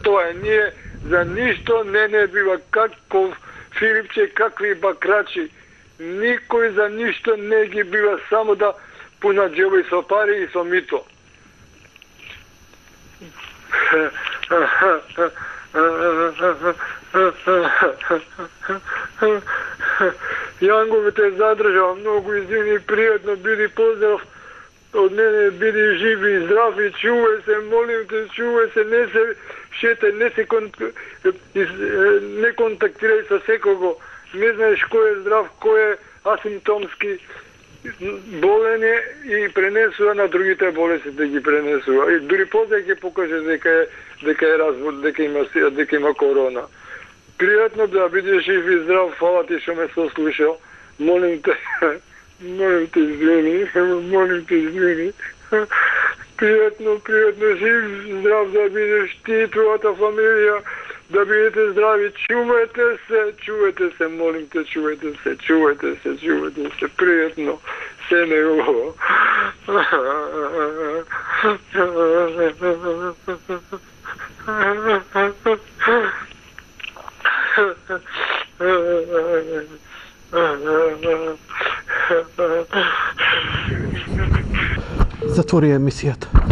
Тоа е, ние за ништо не бива. Каков Филипче, какви бакрачи. Никој за ништо не ги бива, само да пунат џебови со пари и со мито. Јанко, те задржав, многу извини, пријатно, биди поздрав од мене, биди жив и здрав и чувај се, молим те, чувај се, не се шете, не контактирај со секого, не знаеш кој е здрав, кој е асимптомски болен е и пренесува на другите болести да ги пренесува. И дури после ќе покаже дека е развод, дека има корона. Пријатно да бидеш жив и здрав, фала ти што ме сослушал. Молим те, извини. Пријатно, жив, здрав да бидеш ти, твојата фамилија, да бидете здрави, чувајте се, молим те, чувајте се, пријатно, се негово. Затвори емисијата.